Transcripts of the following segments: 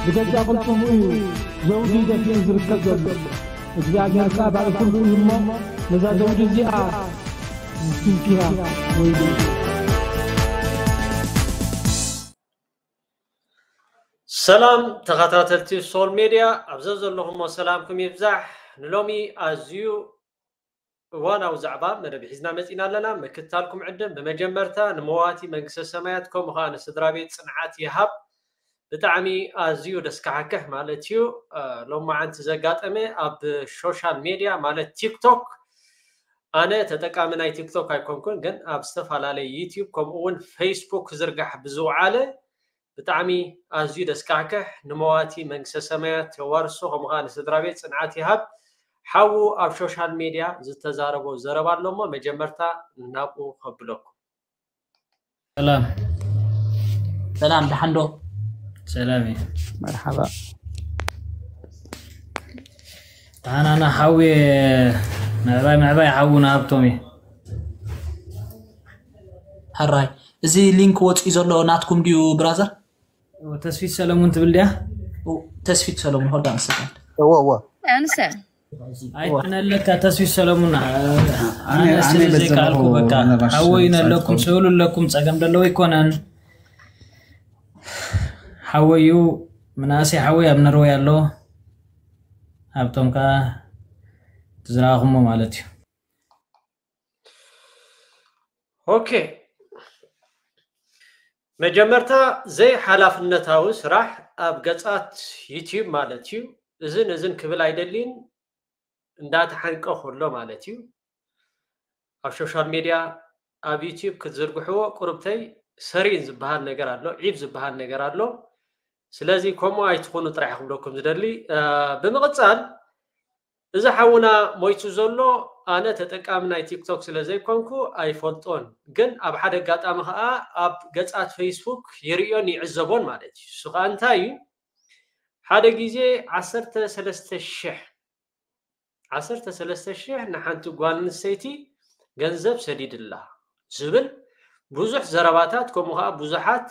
ብገዛእ ቅልጽሙ እዩ ዘውዲ ደፊኡ ዝርከብ ዘሎ። እግዚኣብሔር ከኣ ባሪኹልኩም እሞ ነዛ ዘውዲ እዚኣ ስንኪያ ወይሉ። ሰላም ተኸታተልቲ ሶል ሜድያ፣ ኣብ ዘዘለኹሞ ሰላምኩም ይብዛሕ። ንሎሚ ኣዝዩ እዋናዊ ዛዕባ መደብ ሒዝና መጺና ኣለና። ምክታልኩም ዕድም። ብመጀመርታ ንመዋቲ መንግስተ ሰማያት ከምኡ ኸኣ ንስድራ ቤት ጽንዓት ይሃብ። ብጣዕሚ ኣዝዩ ደስካሕክሕ ማለት እዩ። እ፣ ሎማዓንቲ ዘጋጠመ ኣብ ሶሻል ሜድያ ማለት ቲክቶክ፣ ኣነ ተጠቃሚ ናይ ቲክቶክ ኣይኮንኩን፣ ግን ኣብ ዝተፈላለየ ዩቲዩብ ከምኡ እውን ፌስቡክ ክዝርጋሕ ብዝውዓለ ብጣዕሚ ኣዝዩ ደስካሕክሕ፣ ንመዋቲ መንግስተ ሰማያት የዋርሶ፣ ከምኡ ኸኣ ንስድራ ቤት ጽንዓት ይሃብ። ሓዉ ኣብ ሶሻል ሜድያ ዝተዛረቦ ዘረባ ኣሎ እሞ መጀመርታ ናብኡ ከብለኩም። ሰላም ሰላም፣ ደሓን ዶ? ሰላም እዩ። መርሓባ። ደሓናና ሓዊ ምዕባይ ምዕባይ ሓውና ሃብቶም እዩ። ሕራይ፣ እዚ ሊንክ ወፂኡ ዘሎ ናትኩም ድዩ ብራዘር? ተስፊት ሰለሙን ትብል ድያ? ተስፊት ሰለሙን፣ hold on a second። እዎ እዎ ኣንሰ ኣይትነለካ ተስፊት ሰለሙን። ኣነ ኣነ ኣነ ስለ በዘለኹ ዘይከኣልኩ በቃ ነባሽ ሓወይ ጻድቁ። ነለኩም ስእሉ ኣለኩም ጸገም ደለዎ ኣይኮነን። ሓወዩ ምናእሰይ ሓወይ ኣብ ነርወይ ኣሎ። ሃብቶም ከኣ ትዝረኣኹሞ ማለት እዩ። ኦኬ፣ መጀመርታ ዘይሓላፍነታዊ ስራሕ ኣብ ገጻት ዩቲዩብ ማለት እዩ። እዝን እዝን ክብል ኣይደልይን፣ እንዳተሓንቀ ከሎ ማለት እዩ። ኣብ ሶሻል ሜድያ ኣብ ዩቲዩብ ክትዝርግሕዎ ቁርብተይ ሰሪን ዝበሃል ነገር ኣሎ፣ ዒብ ዝበሃል ነገር ኣሎ። ስለዚ ከምኡ ኣይትኹኑ ጥራሕ ክብለኩም ዝደሊ። እ፣ ብምቕጻል እዚ ሓውና ሞይቱ ዘሎ ኣነ ተጠቃሚ ናይ ቲክቶክ ስለ ዘይኮንኩ ኣይፈልጦን፣ ግን ኣብ ሓደ ኣጋጣሚ ኸኣ ኣብ ገጻት ፌስቡክ ይርእዮን ይዕዘቦን ማለት እዩ። እሱ ኸኣ እንታይ እዩ? ሓደ ግዜ ዓሰርተ ሰለስተ ሽሕ ዓሰርተ ሰለስተ ሽሕ ንሓንቲ ጓል ኣንስተይቲ ገንዘብ ሰዲድላ ዝብል ብዙሕ ዘረባታት፣ ከምኡ ኸዓ ብዙሓት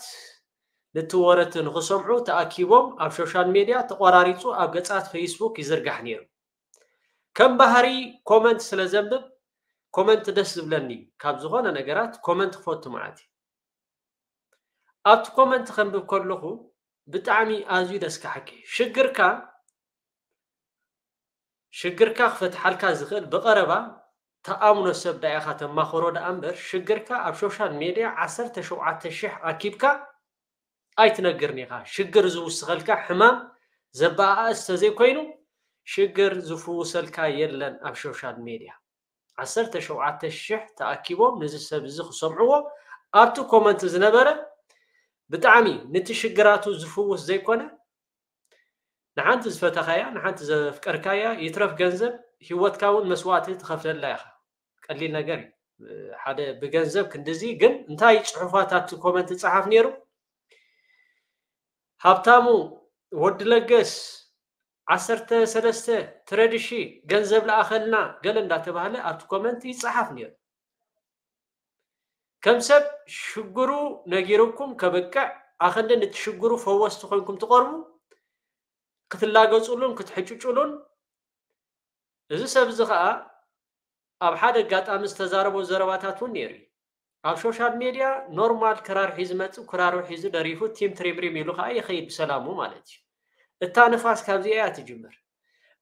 ነቲ ወረ እቲ ንኽሰምዑ ተኣኪቦም ኣብ ሶሻል ሜድያ ተቖራሪጹ ኣብ ገጻት ፌስቡክ ይዝርጋሕ ነይሩ። ከም ባህሪ ኮመንት ስለ ዘንብብ ኮመንት ደስ ዝብለኒ እዩ። ካብ ዝኾነ ነገራት ኮመንት ክፈቱ መዓት እዩ። ኣብቲ ኮመንት ከንብብ ከለኹ ብጣዕሚ ኣዝዩ ደስካሕኪ። ሽግርካ ሽግርካ ክፈትሓልካ ዝኽእል ብቐረባ ተኣምኖ ሰብ ዳኢኻ ተማኽሮ ደኣ እምበር ሽግርካ ኣብ ሶሻል ሜድያ ዓሰርተ ሸውዓተ ሽሕ ኣኪብካ ኣይትነግርን ኢኻ። ሽግር ዝውስኸልካ ሕማም ዘበኣእስ ተዘይኮይኑ ሽግር ዝፍውሰልካ የለን ኣብ ሶሻል ሜድያ። ዓሰርተ ሸውዓተ ሽሕ ተኣኪቦም ነዚ ሰብ እዚ ክሰምዕዎ ኣብቲ ኮመንት ዝነበረ ብጣዕሚ ንቲ ሽግራቱ ዝፍውስ ዘይኮነ ንሓንቲ ዝፈተኻያ ንሓንቲ ዘፍቀርካያ ይትረፍ ገንዘብ ሂወትካ እውን መስዋእቲ ትኸፍለላ ኢኻ። ቀሊል ነገር እዩ። ሓደ ብገንዘብ ክንድዚ ግን እንታይ ጽሑፋት ኣብቲ ኮመንት ይጸሓፍ ነይሩ? ሃብታሙ ወዲ ለገስ ዓሰርተ ሰለስተ ትረድሺ ገንዘብ ለኣኸልና ገለ እንዳተባህለ ኣብቲ ኮመንት ይጸሓፍ ነይሩ። ከም ሰብ ሽግሩ ነጊሩኩም ከብቅዕ ኣኸንዲ ንቲ ሽግሩ ፈወስቲ ኮይንኩም ትቐርቡ ክትላገጹሉን ክትሕጭጩሉን እዚ ሰብ እዚ ኸኣ ኣብ ሓደ ኣጋጣሚ ዝተዛረቦ ዘረባታት እውን ነይሩ እዩ። ኣብ ሶሻል ሜድያ ኖርማል ክራር ሒዙ መጽእ ክራሩ ሒዙ ደሪፉ ቲም ትሪምሪም ኢሉ ኸኣ ይኸይድ ብሰላሙ ማለት እዩ። እታ ንፋስ ካብዚኣ እያ ትጅምር።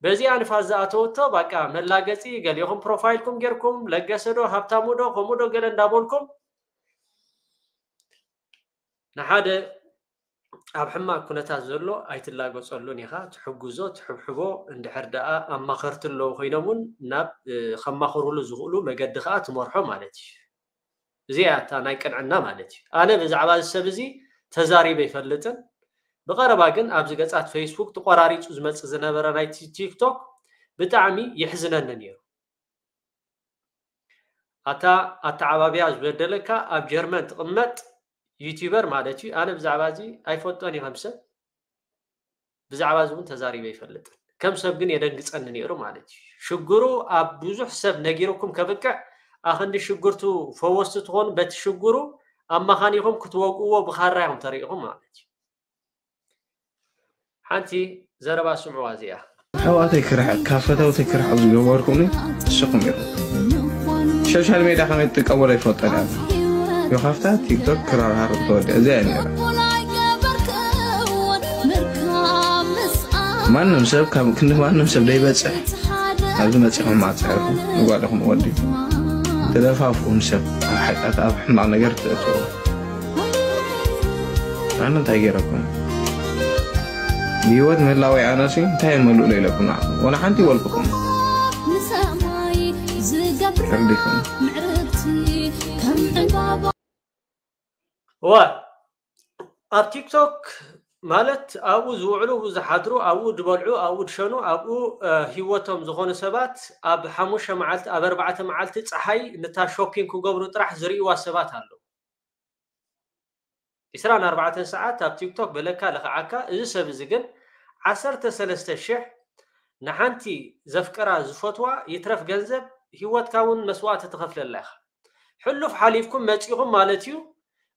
በዚኣ ንፋስ ዝኣተወቶ ባቃ መላገጺ ገሊኹም ፕሮፋይልኩም ጌርኩም ለገሰ ዶ ሃብታሙ ዶ ከምኡ ዶ ገለ እንዳበልኩም ንሓደ ኣብ ሕማቕ ኩነታት ዘሎ ኣይትላገጸሉን ኢኻ። ትሕግዞ ትሕብሕቦ እንድሕር ደኣ ኣማኸርቲ ኣለዉ ኮይኖም እውን ናብ ከማኽሩሉ ዝኽእሉ መገዲ ኸኣ ትመርሖ ማለት እዩ። እዚኣ እያ እታ ናይ ቅንዕና ማለት እዩ። ኣነ ብዛዕባ እዚ ሰብ እዚ ተዛሪበ ኣይፈልጥን። ብቐረባ ግን ኣብዚ ገጻት ፌስቡክ ተቖራሪጹ ዝመጽእ ዝነበረ ናይ ቲክቶክ ብጣዕሚ የሕዝነኒ ነይሩ። ኣታ ኣተዓባብያ ዝበደለካ ኣብ ጀርመን ትቕመጥ ዩቲዩበር ማለት እዩ። ኣነ ብዛዕባ እዚ ኣይፈልጦን እየ ከም ሰብ። ብዛዕባ እዚ እውን ተዛሪበ ኣይፈልጥን። ከም ሰብ ግን የደንግጸኒ ነይሩ ማለት እዩ። ሽግሩ ኣብ ብዙሕ ሰብ ነጊርኩም ከብቅዕ ኣኽንዲ ሽግርቱ ፈወስቲ ትኾኑ በቲ ሽግሩ ኣማኻኒኹም ክትወቅዎ ብኻራ ኢኹም ተሪኢኹም ማለት እዩ። ሓንቲ ዘረባ ስምዕዋ እዚኣ። ኣሕዋተይ ክርሕቕ ካብ ፈተውተይ ክርሕቕ ዝገበርኩኒ ንስኹም ኢኹም። ሶሻል ሜድያ ከመይ ትጥቀመሉ ኣይፈልጦን እየ። ዮኻፍታ ቲክቶክ ክራርሃር ተወደ እዚኣ እያ ነይራ። ማንም ሰብ ካብ ክንዲ ማንም ሰብ ደይበፅሕ ኣብዚ መፂኹም ማፅዕርኩም ንጓልኹም ወዲ ተደፋፍኡን ሰብ ኣብ ሓጢኣት ኣብ ሕማቕ ነገር ተእትዎ። ኣነ እንታይ ገይረኩም? ብህይወት ምህላወይ ኣነሲ እንታይ እየ መልእሎ ኢለኩም ንዓኹም? ወላ ሓንቲ ይበልኩኹም። ተረዲእኩም? እዋ ኣብ ቲክቶክ ማለት ኣብኡ ዝውዕሉ፣ ኣብኡ ዝሓድሩ፣ ኣብኡ ዝበልዑ፣ ኣብኡ ዝሸኑ፣ ኣብኡ እ፣ ህይወቶም ዝኾኑ ሰባት ኣብ ሓሙሽተ መዓልቲ ኣብ ኣርባዕተ መዓልቲ ፀሓይ ንታ ሾፒንግ ክገብሩ ጥራሕ ዝርእይዋ ሰባት ኣለዉ። ዕስራን ኣርባዕተን ሰዓት ኣብ ቲክቶክ በለካ ልኽዓካ። እዚ ሰብ እዚ ግን ዓሰርተ ሰለስተ ሽሕ ንሓንቲ ዘፍቅራ ዝፈትዋ ይትረፍ ገንዘብ ህይወትካ እውን መስዋእቲ ትኸፍለላ ኢኻ። ሕሉፍ ሓሊፍኩም መፂኹም ማለት እዩ።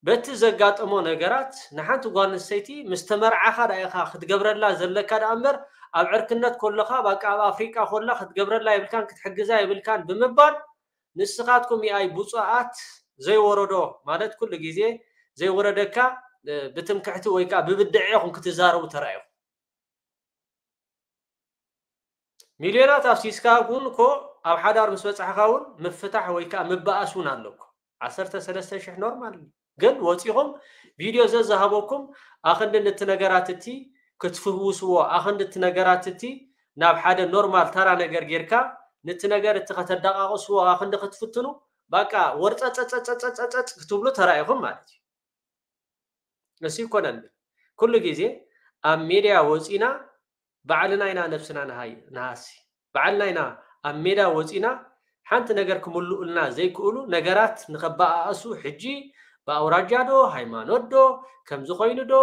በቲ ዘጋጠሞ ነገራት ንሓንቲ ጓል ኣንስተይቲ ምስ ተመርዓኻ ዳ ኢኻ ክትገብረላ ዘለካ ደኣ እምበር ኣብ ዕርክነት ኮለኻ በቃ ኣብ ኣፍሪቃ ኮላ ክትገብረላ የብልካን ክትሕግዛ የብልካን ብምባል ንስኻትኩም ይኣይ ብፁዓት ዘይወረዶ ማለት ኩሉ ግዜ ዘይወረደካ እ፣ ብትምክሕቲ ወይ ከዓ ብብድዐ ኢኹም ክትዛረቡ ተራኢኹም። ሚልዮናት ኣፍሲስካ እውን እኮ ኣብ ሓዳር ምስ በፃሕካ እውን ምፍታሕ ወይ ከዓ ምበኣስ እውን ኣሎ እኮ። ዓሰርተ ሰለስተ ሽሕ ኖርማል እዩ። ግን ወፂኹም ቪድዮ ዘዝሃበኩም ኣኽንዲ ነቲ ነገራት እቲ ክትፍውስዎ ኣኽንዲ እቲ ነገራት እቲ ናብ ሓደ ኖርማል ተራ ነገር ጌርካ ነቲ ነገር እቲ ከተዳቃቅስዎ ኣኽንዲ ክትፍትኑ በቃ ወርፀፀፀፀፀፀፀ ክትብሉ ተራኢኹም ማለት እዩ። እሱ ይኮነን ኩሉ ግዜ ኣብ ሜድያ ወፂና ባዕልና ኢና ነብስና ንሃይ ንሃሲ ባዕልና ኢና ኣብ ሜዳ ወፂና ሓንቲ ነገር ክምልኡልና ዘይክእሉ ነገራት ንኸበኣእሱ ሕጂ ብኣውራጃ ዶ ሃይማኖት ዶ ከምዚ ኮይኑ ዶ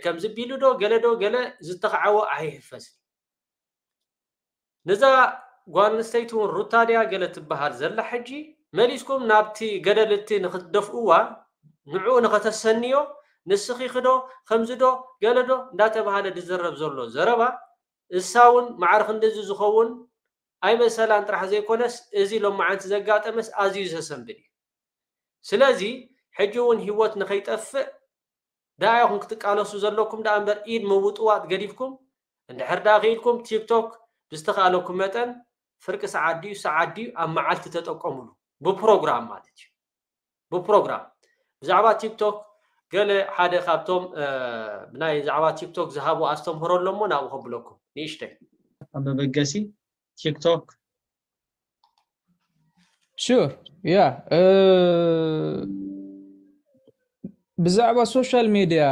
ከምዚ ቢሉ ዶ ገለ ዶ ገለ ዝተኸዓወ ኣይሕፈስን። ነዛ ጓል ኣንስተይቲ እውን ሩታ ድያ ገለ ትበሃል ዘላ ሕጂ መሊስኩም ናብቲ ገደል እቲ ንክትደፍእዋ ንዕኡ ንኸተሰንዮ ንስኺ ክዶ ከምዚ ዶ ገለ ዶ እንዳተባሃለ ዝዘረብ ዘሎ ዘረባ እሳ እውን ማዕረ ክንድዚ ዝኸውን ኣይመሰላን ጥራሕ ዘይኮነስ እዚ ሎማዓንቲ ዘጋጠመስ ኣዝዩ ዘሰንብድ እዩ። ስለዚ ሕጂ እውን ህይወት ንኸይጠፍእ ደኣ ኢኹም ክትቃለሱ ዘለኩም ደኣ እምበር ኢድ ምውጥዋጥ ገዲፍኩም እንድሕር ደኣ ክኢልኩም ቲክቶክ ብዝተኻእለኩም መጠን ፍርቂ ሰዓት ድዩ ሰዓት ድዩ ኣብ መዓልቲ ተጠቀሙሉ ብፕሮግራም ማለት እዩ። ብፕሮግራም ብዛዕባ ቲክቶክ ገለ ሓደ ካብቶም እ፣ ብናይ ዛዕባ ቲክቶክ ዝሃቡ ኣስተምህሮ ኣለሞ ናብኡ ከብለኩም ንእሽተይ መበገሲ ቲክቶክ Sure, yeah. ብዛዕባ ሶሻል ሜድያ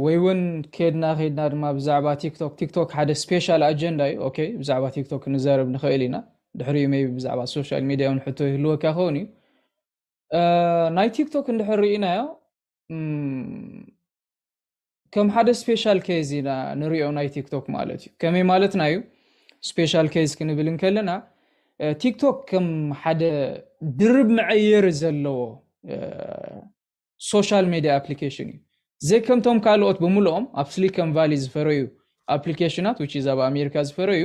ወይ እውን ከድና ከድና ድማ ብዛዕባ ቲክቶክ ቲክቶክ ሓደ ስፔሻል ኣጀንዳ እዩ። ኦኬ፣ ብዛዕባ ቲክቶክ ክንዛረብ ንኽእል ኢና። ድሕሪኡ ሜይ ቢ ብዛዕባ ሶሻል ሜድያ እውን ሕቶ ይህልወካ ክኸውን እዩ። እ፣ ናይ ቲክቶክ እንድሕር ርኢናዮ እም፣ ከም ሓደ ስፔሻል ኬዝ ኢና ንሪኦ ናይ ቲክቶክ ማለት እዩ። ከመይ ማለትና እዩ? ስፔሻል ኬዝ ክንብል እንከለና እ፣ ቲክቶክ ከም ሓደ ድርብ መዐየሪ ዘለዎ እ፣ ሶሻል ሜድያ ኣፕሊኬሽን እዩ። ዘይከምቶም ካልኦት ብምልኦም ኣብ ስሊከን ቫሊ ዝፈረዩ ኣፕሊኬሽናት which is ኣብ ኣሜሪካ ዝፈረዩ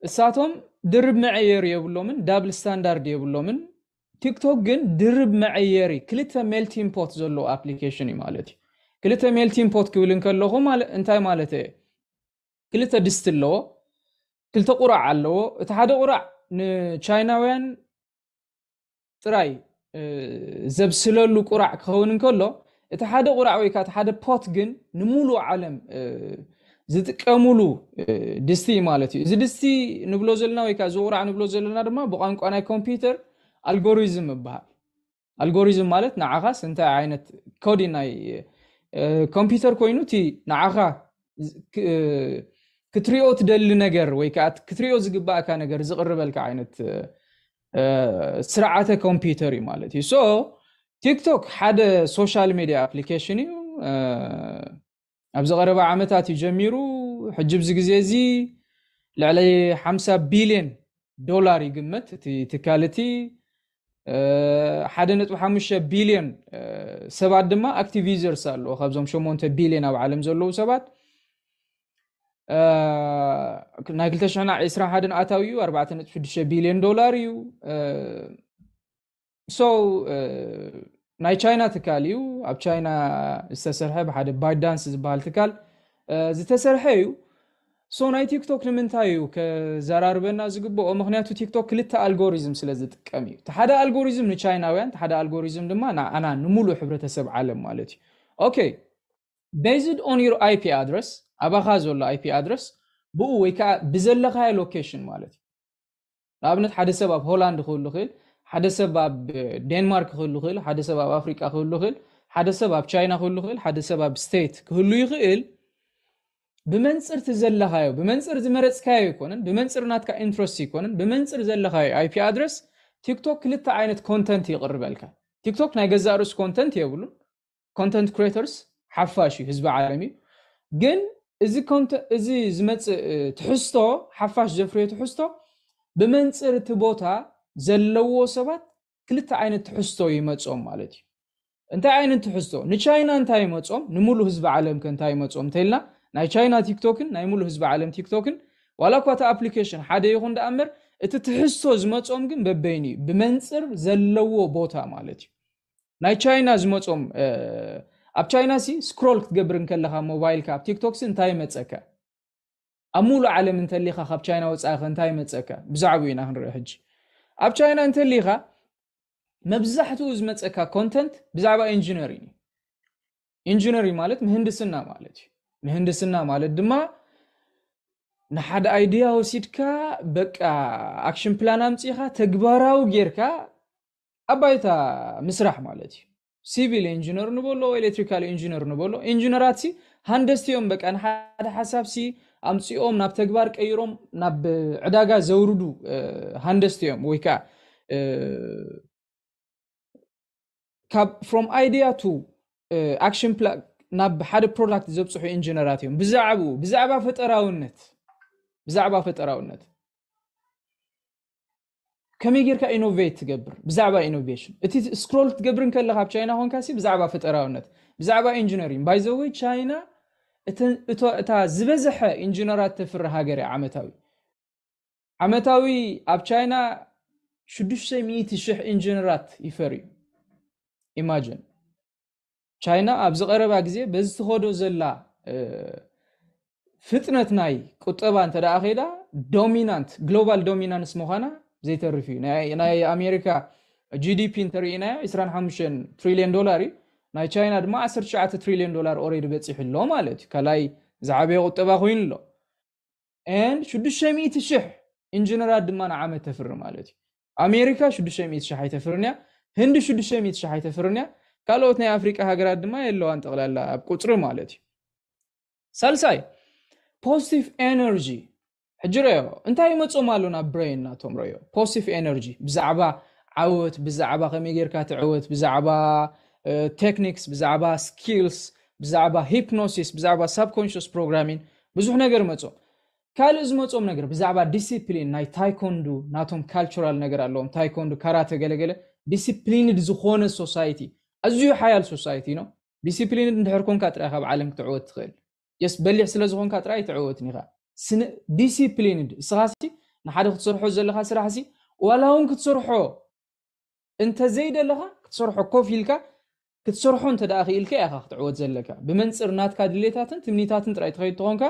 እሳቶም ድርብ መዐየሪ የብሎምን፣ ዳብል ስታንዳርድ የብሎምን። ቲክቶክ ግን ድርብ መዐየሪ ክልተ ሜልቲን ፖት ዘለዎ ኣፕሊኬሽን እዩ ማለት እዩ። ክልተ ሜልቲን ፖት ክብል እንከለኹ ማለ- እንታይ ማለት እየ? ክልተ ድስቲ ኣለዎ፣ ክልተ ቁራዕ ኣለዎ። እቲ ሓደ ቁራዕ ንቻይናውያን ጥራይ እ፣ ዘብስለሉ ቁራዕ ክኸውን እንከሎ እቲ ሓደ ቁራዕ ወይ ከዓ እቲ ሓደ ፖት ግን ንምሉእ ዓለም እ፣ ዝጥቀሙሉ እ፣ ድስቲ እዩ ማለት እዩ። እዚ ድስቲ ንብሎ ዘለና ወይ ከዓ እዚ ቁራዕ ንብሎ ዘለና ድማ ብቋንቋ ናይ ኮምፒውተር ኣልጎሪዝም ይበሃል። ኣልጎሪዝም ማለት ንዓኻስ እንታይ ዓይነት ኮዲ ናይ እ፣ ኮምፒውተር ኮይኑ እቲ ንዓኻ ዝ- ክ- እ፣ ክትሪኦ ትደሊ ነገር ወይ ከዓ ክትሪኦ ዝግባእካ ነገር ዝቕርበልካ ዓይነት እ፣ እ፣ ስርዓተ ኮምፒውተር እዩ ማለት እዩ። ሶ ቲክቶክ ሓደ ሶሻል ሜድያ ኣፕሊኬሽን እዩ። እ፣ ኣብዚ ቀረባ ዓመታት እዩ ጀሚሩ። ሕጂ ኣብዚ ግዜ እዚ ልዕሊ ሓምሳ ቢልዮን ዶላር ይግመት እቲ ትካል እቲ ሓደ ነጥቢ ሓሙሽተ ቢልዮን ሰባት ድማ ኣክቲቭ ዩዘርስ ኣለዎ። ካብዞም ሸሞንተ ቢልዮን ኣብ ዓለም ዘለዉ ሰባት ናይ ክልተ ሽሕን ዕስራን ሓደን ኣታዊ እዩ ኣርባዕተ ነጥቢ ሽዱሽተ ቢልዮን ዶላር እዩ። So ናይ ቻይና ትካል እዩ። ኣብ ቻይና ዝተሰርሐ ብሓደ ባይዳንስ ዝበሃል ትካል ዝተሰርሐ እዩ። So ናይ ቲክቶክ ንምንታይ እዩ ከዘራርበና ዝግብኦ? ምክንያቱ ቲክቶክ ክልተ ኣልጎሪዝም ስለ ዝጥቀም እዩ። እቲ ሓደ ኣልጎሪዝም ንቻይናውያን፣ እቲ ሓደ ኣልጎሪዝም ድማ ንኣና ንሙሉእ ሕብረተሰብ ዓለም ማለት እዩ። Okay, based on your IP address፣ ኣባኻ ዘሎ IP address ብኡ ወይ ከዓ ብዘለኻዮ ሎኬሽን ማለት እዩ። ንኣብነት ሓደ ሰብ ኣብ ሆላንድ ክህሉ ይኽእል፣ ሓደ ሰብ ኣብ ዴንማርክ ክህሉ ይኽእል፣ ሓደ ሰብ ኣብ ኣፍሪቃ ክህሉ ይኽእል፣ ሓደ ሰብ ኣብ ቻይና ክህሉ ይኽእል፣ ሓደ ሰብ ኣብ ስቴት ክህሉ ይኽእል። ብመንፅር እቲ ዘለኻዮ፣ ብመንፅር ዝመረፅካዮ ኣይኮነን፣ ብመንፅር ናትካ ኢንትረስት ኣይኮነን፣ ብመንፅር ዘለኻዮ IP ኣድረስ ቲክቶክ ክልተ ዓይነት ኮንተንት ይቕርበልካ። ቲክቶክ ናይ ገዛእ ርእሱ ኮንተንት የብሉን። ኮንተንት ክሬተርስ ሓፋሽ እዩ፣ ህዝቢ ዓለም እዩ። ግን እዚ ኮንተ- እዚ ዝመፅእ ትሕዝቶ፣ ሓፋሽ ዘፍርዮ ትሕዝቶ ብመንፅር እቲ ቦታ ዘለዎ ሰባት ክልተ ዓይነት ትሕዝቶ ይመፆም ማለት እዩ። እንታይ ዓይነት ትሕዝቶ? ንቻይና እንታይ ይመፆም፣ ንሙሉ ህዝቢ ዓለም ከ እንታይ ይመፆም እንተልና፣ ናይ ቻይና ቲክቶክን ናይ ሙሉ ህዝቢ ዓለም ቲክቶክን ዋላ እኳ እቲ ኣፕሊኬሽን ሓደ ይኹን ደኣ እምበር እቲ ትሕዝቶ ዝመፆም ግን በበይኑ እዩ፣ ብመንፅር ዘለዎ ቦታ ማለት እዩ። ናይ ቻይና ዝመፆም ኣብ ቻይና ሲ ስክሮል ክትገብር እንከለካ ሞባይልካ ኣብ ቲክቶክ ሲ እንታይ ይመፀካ? ኣብ ሙሉእ ዓለም እንተሊኻ ካብ ቻይና ወፃኢ ከ እንታይ ይመፀካ? ብዛዕባኡ ኢና ክንርኢ ሕጂ። ኣብ ቻይና እንተሊኻ መብዛሕትኡ ዝመፀካ ኮንተንት ብዛዕባ ኢንጂነሪንግ እዩ። ኢንጂነሪንግ ማለት ምህንድስና ማለት እዩ። ምህንድስና ማለት ድማ ንሓደ ኣይድያ ወሲድካ በቃ ኣክሽን ፕላን ኣምፂኻ ተግባራዊ ጌርካ ኣብ ባይታ ምስራሕ ማለት እዩ። ሲቪል ኢንጂነር ንበሎ፣ ኤሌክትሪካል ኢንጂነር ንበሎ፣ ኢንጂነራት ሲ ሃንደስቲ እዮም። በቃ ንሓደ ሓሳብ ሲ ኣምፂኦም ናብ ተግባር ቀይሮም ናብ ዕዳጋ ዘውርዱ ሃንደስቲ እዮም። ወይ ከዓ ካብ from idea to action plan ናብ ሓደ ፕሮዳክት ዘብፅሑ ኢንጂነራት እዮም። ብዛዕባኡ ብዛዕባ ፈጠራውነት ብዛዕባ ፈጠራውነት ከመይ ጌርካ ኢኖቬት ትገብር? ብዛዕባ ኢኖቬሽን እቲ ስክሮል ክትገብር እንከለካ ኣብ ቻይና ኮንካ ሲ ብዛዕባ ፈጠራውነት ብዛዕባ ኢንጂነሪንግ። By the way ቻይና እተ- እቶ- እታ ዝበዝሐ ኢንጂነራት ተፍሪ ሃገር እያ ዓመታዊ። ዓመታዊ ኣብ ቻይና ሽዱሽተ ሚእቲ ሽሕ ኢንጂነራት ይፈርዩ። ኢማጅን ቻይና ኣብዚ ቀረባ ግዜ በዚ ትኸዶ ዘላ ፍጥነት ናይ ቁጠባ እንተ ደኣ ከይዳ ዶሚናንት ግሎባል ዶሚናንስ ምዃና ዘይተርፍ እዩ። ናይ ኣሜሪካ ጂዲፒ እንተርኢናዮ ዕስራን ሓሙሽተን ትሪልዮን ዶላር እዩ። ናይ ቻይና ድማ ዓሰርተ ትሽዓተ ትሪልዮን ዶላር ኦሬዲ በፂሑ ኣሎ ማለት እዩ። ካልኣይ ዝዓበየ ቁጠባ ኮይኑ ኣሎ። And ሽዱሽተ ሚእቲ ሽሕ ኢንጂነራት ድማ ንዓመት ተፍሪ ማለት እዩ። ኣሜሪካ ሽዱሽተ ሚእቲ ሽሕ ኣይተፍርን እያ። ህንዲ ሽዱሽተ ሚእቲ ሽሕ ኣይተፍርን እያ። ካልኦት ናይ ኣፍሪቃ ሃገራት ድማ የለዋን ጠቕላላ ኣብ ቁፅሪ ማለት እዩ። ሳልሳይ ፖዚቲቭ ኤነርጂ። ሕጂ ረዮ እንታይ ይመፆም ኣሎ ናብ ብሬን ናቶም ረዮ። ፖዚቲቭ ኤነርጂ ብዛዕባ ዓወት፣ ብዛዕባ ከመይ ጌርካ ትዕወት፣ ብዛዕባ ቴክኒክስ፣ ብዛዕባ ስኪልስ፣ ብዛዕባ ሂፕኖሲስ፣ ብዛዕባ ሳብኮንሽስ ፕሮግራሚን ብዙሕ ነገር መፆም። ካልእ ዝመፆም ነገር ብዛዕባ ዲሲፕሊን ናይ ታይኮንዱ ናቶም ካልቸራል ነገር ኣለዎም። ታይኮንዱ ካራተ ገለገለ ዲሲፕሊንድ ዝኾነ ሶሳይቲ፣ ኣዝዩ ሓያል ሶሳይቲ ነው። ዲሲፕሊንድ እንድሕር ኮንካ ጥራይ ካብ ዓለም ክትዕወት ትኽእል። የስ በሊሕ ስለ ዝኾንካ ጥራይ ኣይትዕወትን ኢኻ። ስነ ዲሲፕሊንድ እስኻሲ ንሓደ ክትሰርሖ ዘለካ ስራሕሲ ዋላ እውን ክትሰርሖ እንተ ዘይደለኻ ክትሰርሖ ኮፍ ኢልካ ክትሰርሖ እንተ ደኣ ክኢልካ ኢኻ ክትዕወት ዘለካ። ብመንፅር ናትካ ድሌታትን ትምኒታትን ጥራይ ትኸይድ ተኾንካ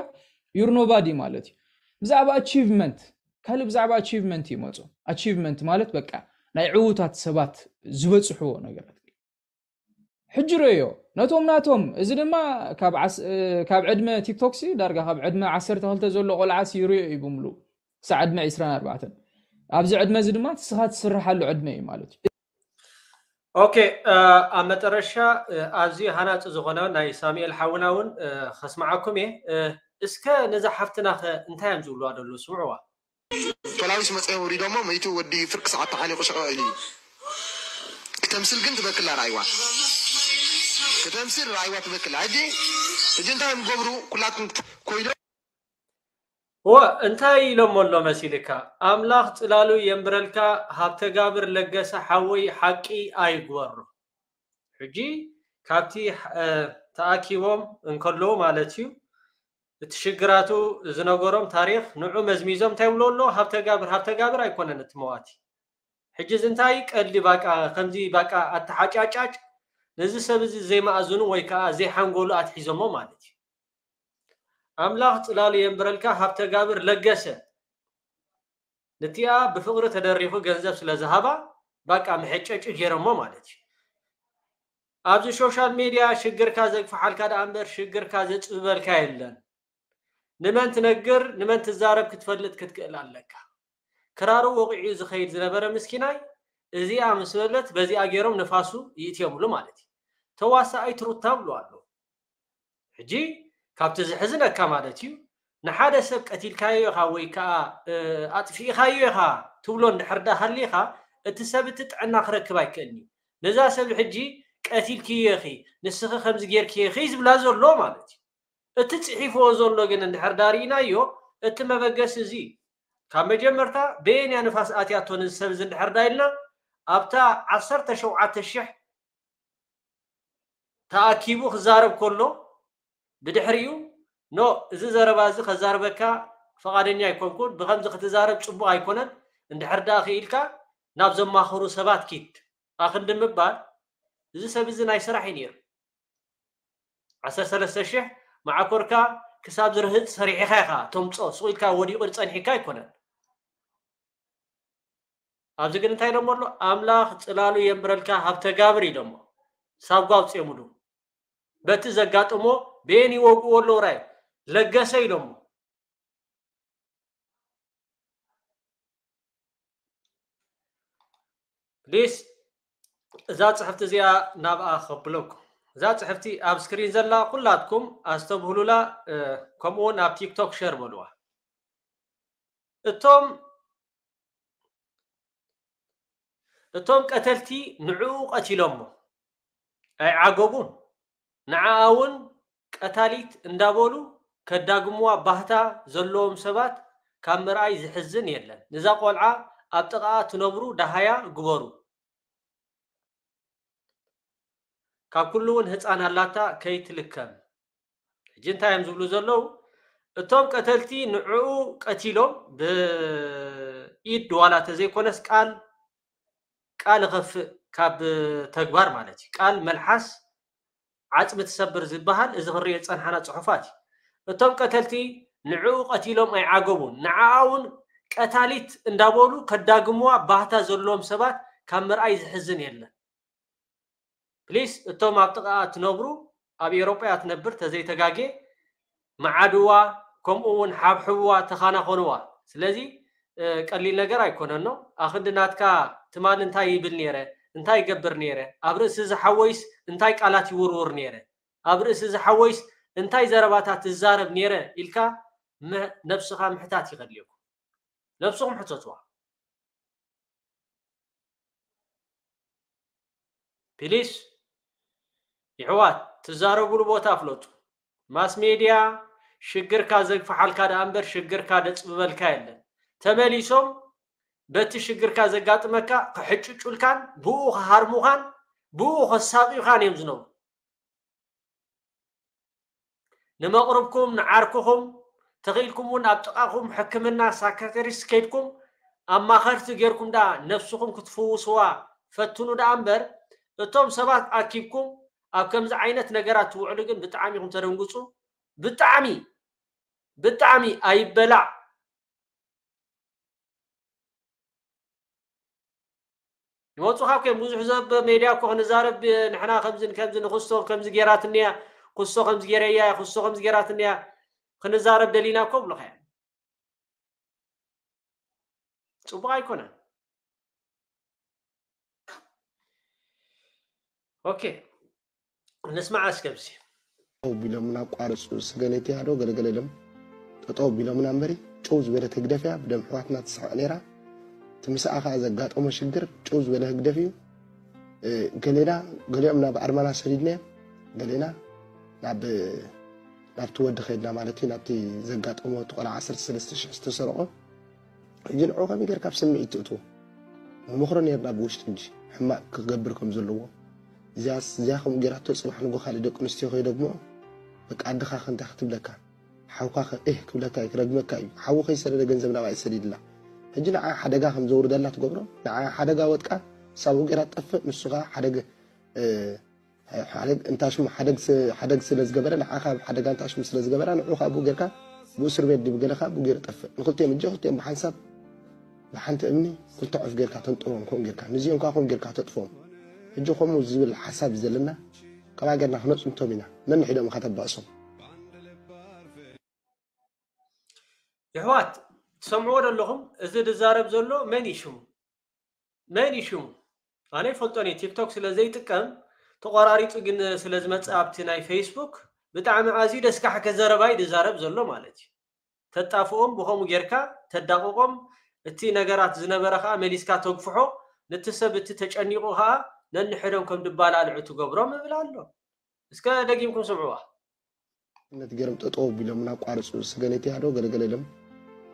you're nobody ማለት እዩ። ብዛዕባ ኣቺቭመንት ካልእ ብዛዕባ ኣቺቭመንት ይመፁ። ኣቺቭመንት ማለት በቃ ናይ ዕዉታት ሰባት ዝበፅሕዎ ነገራት። ሕጂ ረዮ ነቶም ናቶም እዚ ድማ ካብ ዓስ- ካብ ዕድመ ቲክቶክ ሲ ዳርጋ ካብ ዕድመ ዓሰርተ ክልተ ዘሎ ቆልዓ ሲ ይርዮ እዩ ብምሉ ክሳዕ ዕድመ ዕስራን ኣርባዕተን። ኣብዚ ዕድመ እዚ ድማ ንስኻ ትስርሓሉ ዕድመ እዩ ማለት እዩ። ኦኬ ኣብ መጠረሻ ኣዝዩ ሃናፂ ዝኾነ ናይ ሳሙኤል ሓውና እውን ከስማዓኩም እየ። እስከ ነዛ ሓፍትና ከ እንታይ እዮም ዝብልዋ ደለዉ ስምዕዋ። ፖላዊስ መፀ ወሪዶሞ መይቱ ወዲ ፍርቂ ሰዓት ተሓኒቁ ሸቐ ኢሉ እዩ። ክተምስል ግን ትበክላ ራይዋ ክተምስል ራይዋ ትበክላ ሕጂ ሕጂ እንታይ እዮም ገብሩ ኩላትኩም ኮይዶ እወ፣ እንታይ ኢሎሞ ኣሎ መሲልካ? ኣምላኽ ጽላሉ የንብረልካ፣ ሃብተጋብር ለገሰ ሓወይ፣ ሓቂ ኣይግበሮ። ሕጂ ካብቲ እ፣ ተኣኪቦም እንከለዉ ማለት እዩ፣ እቲ ሽግራቱ ዝነገሮም ታሪኽ ንዑ መዝሚዞም እንታይ ይብሎ ኣሎ? ሃብተጋብር፣ ሃብተጋብር ኣይኮነን እቲ መዋቲ። ሕጂ እዚ እንታይ ቀልዲ ባቃ፣ ከምዚ ባቃ ኣተሓጫጫጭ ነዚ ሰብ እዚ ዘይመኣዝኑ ወይ ከዓ ዘይሓንጎሉ ኣትሒዞሞ ማለት እዩ። ኣምላኽ ጽላሉ የንብረልካ ሃብተጋብር ለገሰ። ንቲኣ ብፍቕሪ ተደሪኹ ገንዘብ ስለ ዝሃባ ባቃ መሐጨጭ ገይሮሞ ማለት እዩ። ኣብዚ ሶሻል ሜድያ ሽግርካ ዘግፍሓልካ ደኣ እምበር ሽግርካ ዘጽብበልካ የለን። ንመን ትነግር ንመን ትዛረብ ክትፈልጥ ክትክእል ኣለካ። ክራሩ ወቒዑ ዝኸይድ ዝነበረ ምስኪናይ እዚኣ ምስ በለት በዚኣ ገይሮም ንፋሱ ይእትዮምሉ ማለት እዩ። ተዋሳኣይት ሩታ ብሎ ኣሎ። ሕጂ ካብቲ ዝሕዝነካ ማለት እዩ ንሓደ ሰብ ቀቲልካዮ ኢኻ ወይ ከዓ እ፣ ኣጥፊእኻዮ ኢኻ ትብሎ እንድሕር ዳ ሃሊኻ እቲ ሰብ እቲ ጥዕና ክረክብ ኣይክእልን እዩ። ነዛ ሰብ ሕጂ ቀቲልክዮ ኢኺ ንስኺ ከምዚ ጌርክዮ ኢኺ ዝብላ ዘሎ ማለት እዩ። እቲ ጽሒፍዎ ዘሎ ግን እንድሕር ዳ ርኢናዮ እቲ መበገሲ እዚ እዩ። ካብ መጀመርታ በየንያ ንፋስ ኣትያቶ ነዚ ሰብ እዚ እንድሕር ዳ ኢልና ኣብታ ዓሰርተ ሸውዓተ ሽሕ ተኣኪቡ ክዛረብ ከሎ ብድሕሪኡ ኖ እዚ ዘረባ እዚ ከዛርበካ ፈቓደኛ ኣይኮንኩን፣ ብኸምዚ ክትዛረብ ጽቡቕ ኣይኮነን፣ እንድሕር ደኣ ክኢልካ ናብ ዘማኽሩ ሰባት ኪድ ኣኽንዲ ምባል እዚ ሰብ እዚ ናይ ስራሕ እዩ ነይሩ። ዓሰርተ ሰለስተ ሽሕ መዓኮርካ ክሳብ ዝርህጥ ሰሪሕኻ ኢኻ ተምጾ፣ ስቕ ኢልካ ወዲቑ ጸኒሕካ ኣይኮነን። ኣብዚ ግን እንታይ ኢሎሞ ኣሎ? ኣምላኽ ጽላሉ የንብረልካ ሃብተጋብር ኢሎሞ። ሳጓ ኣውጽኦምሉ። በቲ ዘጋጥሞ በየን ይወግእዎ ኣለዉ ራይ ለገሰ ኢሎሞ። ፕሊስ እዛ ጽሕፍቲ እዚኣ ናብኣ ከብለኩም። እዛ ጽሕፍቲ ኣብ ስክሪን ዘላ ኩላትኩም ኣስተብህሉላ፣ እ፣ ከምኡ እውን ኣብ ቲክቶክ ሸር በልዋ። እቶም እቶም ቀተልቲ ንዕኡ ቀቲሎሞ ኣይዓገቡን። ንዓኣ እውን ቀታሊት እንዳበሉ ከዳግምዋ ባህታ ዘለዎም ሰባት ካብ ምርኣይ ዝሕዝን የለን። ንዛ ቆልዓ ኣብ ጥቓኣ ትነብሩ ደሃያ ግበሩ። ካብ ኩሉ እውን ህፃን ኣላታ ከይትልከም። ሕጂ እንታይ እዮም ዝብሉ ዘለዉ? እቶም ቀተልቲ ንዕኡ ቀቲሎም ብኢድ ዋላ ተዘይኮነስ ቃል ቃል እኸፍእ ካብ ተግባር ማለት እዩ። ቃል መልሓስ ዓፅሚ ትሰብር ዝበሃል እዚ ክሪኦ ዝፀንሓና ፅሑፋት እዩ። እቶም ቀተልቲ ንዕኡ ቀቲሎም ኣይዓገቡን። ንዓኣ እውን ቀታሊት እንዳበሉ ከዳግምዋ ባህታ ዘለዎም ሰባት ካብ ምርኣይ ዝሕዝን የለን። ፕሊስ እቶም ኣብ ጥቓኣ ትነብሩ ኣብ ኤውሮጳ እያ ትነብር ተዘይተጋጌ መዓድዋ ከምኡ እውን ሓብሕብዋ ተኻናኾንዋ። ስለዚ እ፣ ቀሊል ነገር ኣይኮነን ነው። ኣኽንዲ ናትካ ትማሊ እንታይ ይብል ነይረ እንታይ ይገብር ነይረ ኣብ ርእሲ ዝሓወይስ እንታይ ቃላት ይውርውር ነይረ ኣብ ርእሲ ዝሓወይስ እንታይ ዘረባታት ትዛረብ ነይረ ኢልካ ም- ነብስኻ ምሕታት ይኸድልየኩም። ነብስኹም ሕተትዋ። ፕሊስ ይሕዋት ትዛረቡሉ ቦታ ፍለጡ። ማስ ሜድያ ሽግርካ ዘግፍሓልካ ደኣ እምበር ሽግርካ ደጽብበልካ የለን። ተመሊሶም በቲ ሽግርካ ዘጋጥመካ ክሕጭጩልካን ብኡ ክሃርሙኻን ብኡ ከሳቂዩኻን እዮም ዝነብሩ። ንመቕርብኩም ንዓርክኹም ተኽኢልኩም እውን ኣብ ጥቓኹም ሕክምና ሳይካትሪስት ከይድኩም ኣማኸርቲ ጌርኩም ደኣ ነብስኹም ክትፍውስዋ ፈትኑ ደኣ እምበር እቶም ሰባት ኣኪብኩም ኣብ ከምዚ ዓይነት ነገራት ትውዕሉ ግን ብጣዕሚ ኢኹም ተደንግፁ። ብጣዕሚ ብጣዕሚ ኣይበላዕ። ይወፁኻ እኮ እዮም። ብዙሕ ዘብ ሜድያ እኮ ክንዛረብ ንሕና ከምዚ ከምዚ ንክስቶ ከምዚ ጌራትንያ ክስቶ ከምዚ ጌረያ ክስቶ ከምዚ ጌራትንያ ክንዛረብ ደሊና እኮ ብሉኻ እዮም። ፅቡቕ ኣይኮነን። ኦኬ ንስማዕ እስከ ብሲ ጠጠው ቢሎምና ኣቋርፁ ስገለቲ ያዶ ገለገለ ደም ጠጠው ቢሎምና እምበሪ ጭው ዝበለት ህግደፍ እያ ብደም ኣሕዋትና ትስሕቕ ነይራ። እቲ ምስኣ ከዓ ዘጋጠሞ ሽግር ጭው ዝበለ ህግደፍ እዩ። ገሌና ገሊኦም ናብ ኣርማና ሰዲድናዮም ገሌና ናብ ናብቲ ወዲ ከይድና ማለት እዩ፣ ናብቲ ዘጋጠሞ እቲ ቆልዓ ዓሰርተ ሰለስተ ሽሕ ዝተሰርቆ። ሕጂ ንዑ ከመይ ጌርካ ኣብ ስምዒት ትእትዎ? ንመኽሮ ኔርና ብውሽጢ እንጂ ሕማቕ ክገብር ከም ዘለዎ። እዚኣስ፣ እዚኣ ከምኡ ጌራቶ ጽባሕ ንጎ ካልእ ደቂ ኣንስትዮ ከይደግምኦ፣ በቃ ኣድኻ ከ እንታይ ክትብለካ? ሓውካ ከ እህ ክብለካ እዩ፣ ክረግመካ እዩ። ሓዉ ከይሰደደ ገንዘብ ናብኣ ይሰዲድላ። ሕጂ ንዓ ሓደጋ ከም ዘውርደላ ትገብሮ፣ ንዓ ሓደጋ ወጥቃ ሳብኡ ጌራ ትጠፍእ፣ ንሱ ከኣ ሓደግ-፣ እ፣ ሓደግ-፣ እንታ ሽሙ ሓደግ ስ-፣ ሓደግ ስለ ዝገበረ፣ ንዓኻ ኣብ ሓደጋ እንታ ሽሙ ስለ ዝገበራ፣ ንዑ ከኣ ብኡ ጌርካ ብእስር ቤት ድዩ ብገለ ከኣ ብኡ ጌሩ ይጠፍእ። ንክልቲኦም እጆ ክልቲኦም ብሓንሳብ ብሓንቲ እምኒ ክልተ ዑፍ ጌርካ ተንጥሮም፣ ከምኡ ጌርካ ንዚኦም ከኣ ከምኡ ጌርካ ተጥፎም። ሕጂ ከምኡ ዝብል ሓሳብ እዩ ዘለና። ከምኣ ጌርና ክነጽንቶም ኢና። ነንሕዶም ኢኻ ተባእሶም። የሕዋት ትሰምዕዎ ዘለኹም፣ እዚ ዝዛረብ ዘሎ መን እዩ ሽሙ? መን እዩ ሽሙ? ኣነ ይፈልጦን እየ፣ ቲክቶክ ስለ ዘይጥቀም ተቆራሪፁ ግን ስለ ዝመፅእ ኣብቲ ናይ ፌስቡክ ብጣዕሚ ኣዝዩ ደስካሕከ ዘረባ እዩ ዝዛረብ ዘሎ ማለት እዩ። ተጣፍኦም ብኸምኡ ጌርካ ተዳቕቖም፣ እቲ ነገራት ዝነበረ ከዓ መሊስካ ተግፍሖ፣ ነቲ ሰብ እቲ ተጨኒቑ ከዓ ነንሕዶም ከም ድባላልዑ ትገብሮም እብል ኣሎ። እስከ ደጊምኩም ስምዕዋ። ነት ገይሮም ጠጠው ቢሎምና ኣቋርፁ ስገኔት ያዶ ገለገለ ኢሎም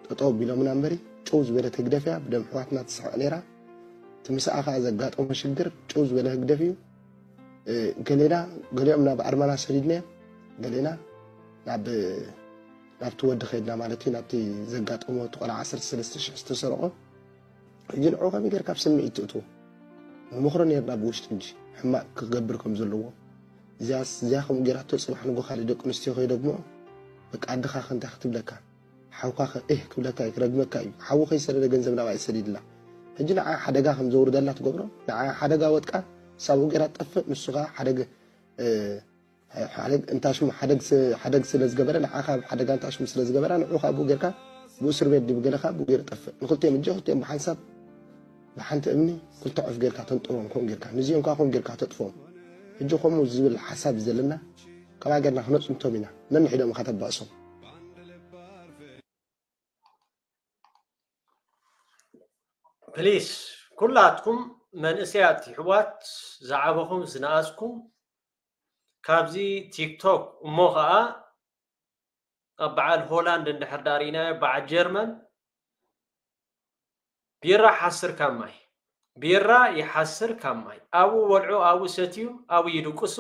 ጠጠው ቢሎምና እምበሪ ጭው ዝበለት ህግደፍ እያ። ብደም ኣሕዋትና ትስሕቕ ነይራ። እቲ ምስኣ ከዓ ዘጋጠሞ ሽግር ጭው ዝበለ ህግደፍ እዩ። እ፣ ገሌና ገሊኦም ናብ ኣርማና ሰዲድናዮም፣ ገሌና ናብ ናብቲ ወዲ ከይድና ማለት እዩ፣ ናብቲ ዘጋጠሞ እቲ ቆልዓ ዓሰርተ ሰለስተ ሽሕ ዝተሰርቆ። ሕጂ ንዑ ከመይ ጌርካ ኣብ ስምዒት ትእትዎ? ንመኽሮ ኔርና ብውሽጢ እንጂ ሕማቕ ክገብር ከም ዘለዎ። እዚኣስ፣ እዚኣ ከምኡ ጌራቶ ጽባሕ ንጎ ካልእ ደቂ ኣንስትዮ ከይደግምኦ፣ በቃ ኣድኻ ከ እንታይ ክትብለካ? ሓውካ ከ እህ ክብለካ እዩ፣ ክረግመካ እዩ። ሓዉ ከይሰደደ ገንዘብ ናብኣ ይሰዲድላ። ሕጂ ንዓ ሓደጋ ከም ዘውርደላ ትገብሮ፣ ንዓ ሓደጋ ወጥቃ ሳብኡ ጌራ ትጠፍእ፣ ንሱ ከኣ ሓደግ-፣ እ፣ ሓደግ-፣ እንታ ሽሙ ሓደግ ስ-፣ ሓደግ ስለ ዝገበረ፣ ንዓ ካብ ሓደጋ እንታ ሽሙ ስለ ዝገበራ፣ ንዑ ከኣ ብኡ ጌርካ ብእስር ቤት ድዩ ብገለ ከኣ ብኡ ጌሩ ይጠፍእ። ንክልቲኦም እጆ ክልቲኦም ብሓንሳብ ብሓንቲ እምኒ ክልተ ዑፍ ጌርካ ተንጥሮም፣ ከምኡ ጌርካ ንዚኦም ከኣ ከምኡ ጌርካ ተጥፎም። ሕጂ ከምኡ ዝብል ሓሳብ እዩ ዘለና። ከምኣ ጌርና ክነጽንቶም ኢና። ነንሕዶም ኢኻ ተባእሶም። ፕሊስ ኩላትኩም መንእሰያት ይሕዋት ዝዓበኹም ዝነኣስኩም ካብዚ ቲክቶክ እሞ ኸዓ ኣብ በዓል ሆላንድ እንድሕር ዳርኢናዮ በዓል ጀርመን ቢራ ሓስር ካብ ማይ ቢራ ይሓስር ካብ ማይ ኣብኡ በልዑ ኣብኡ ሰትዩ ኣብኡ ይድቅሱ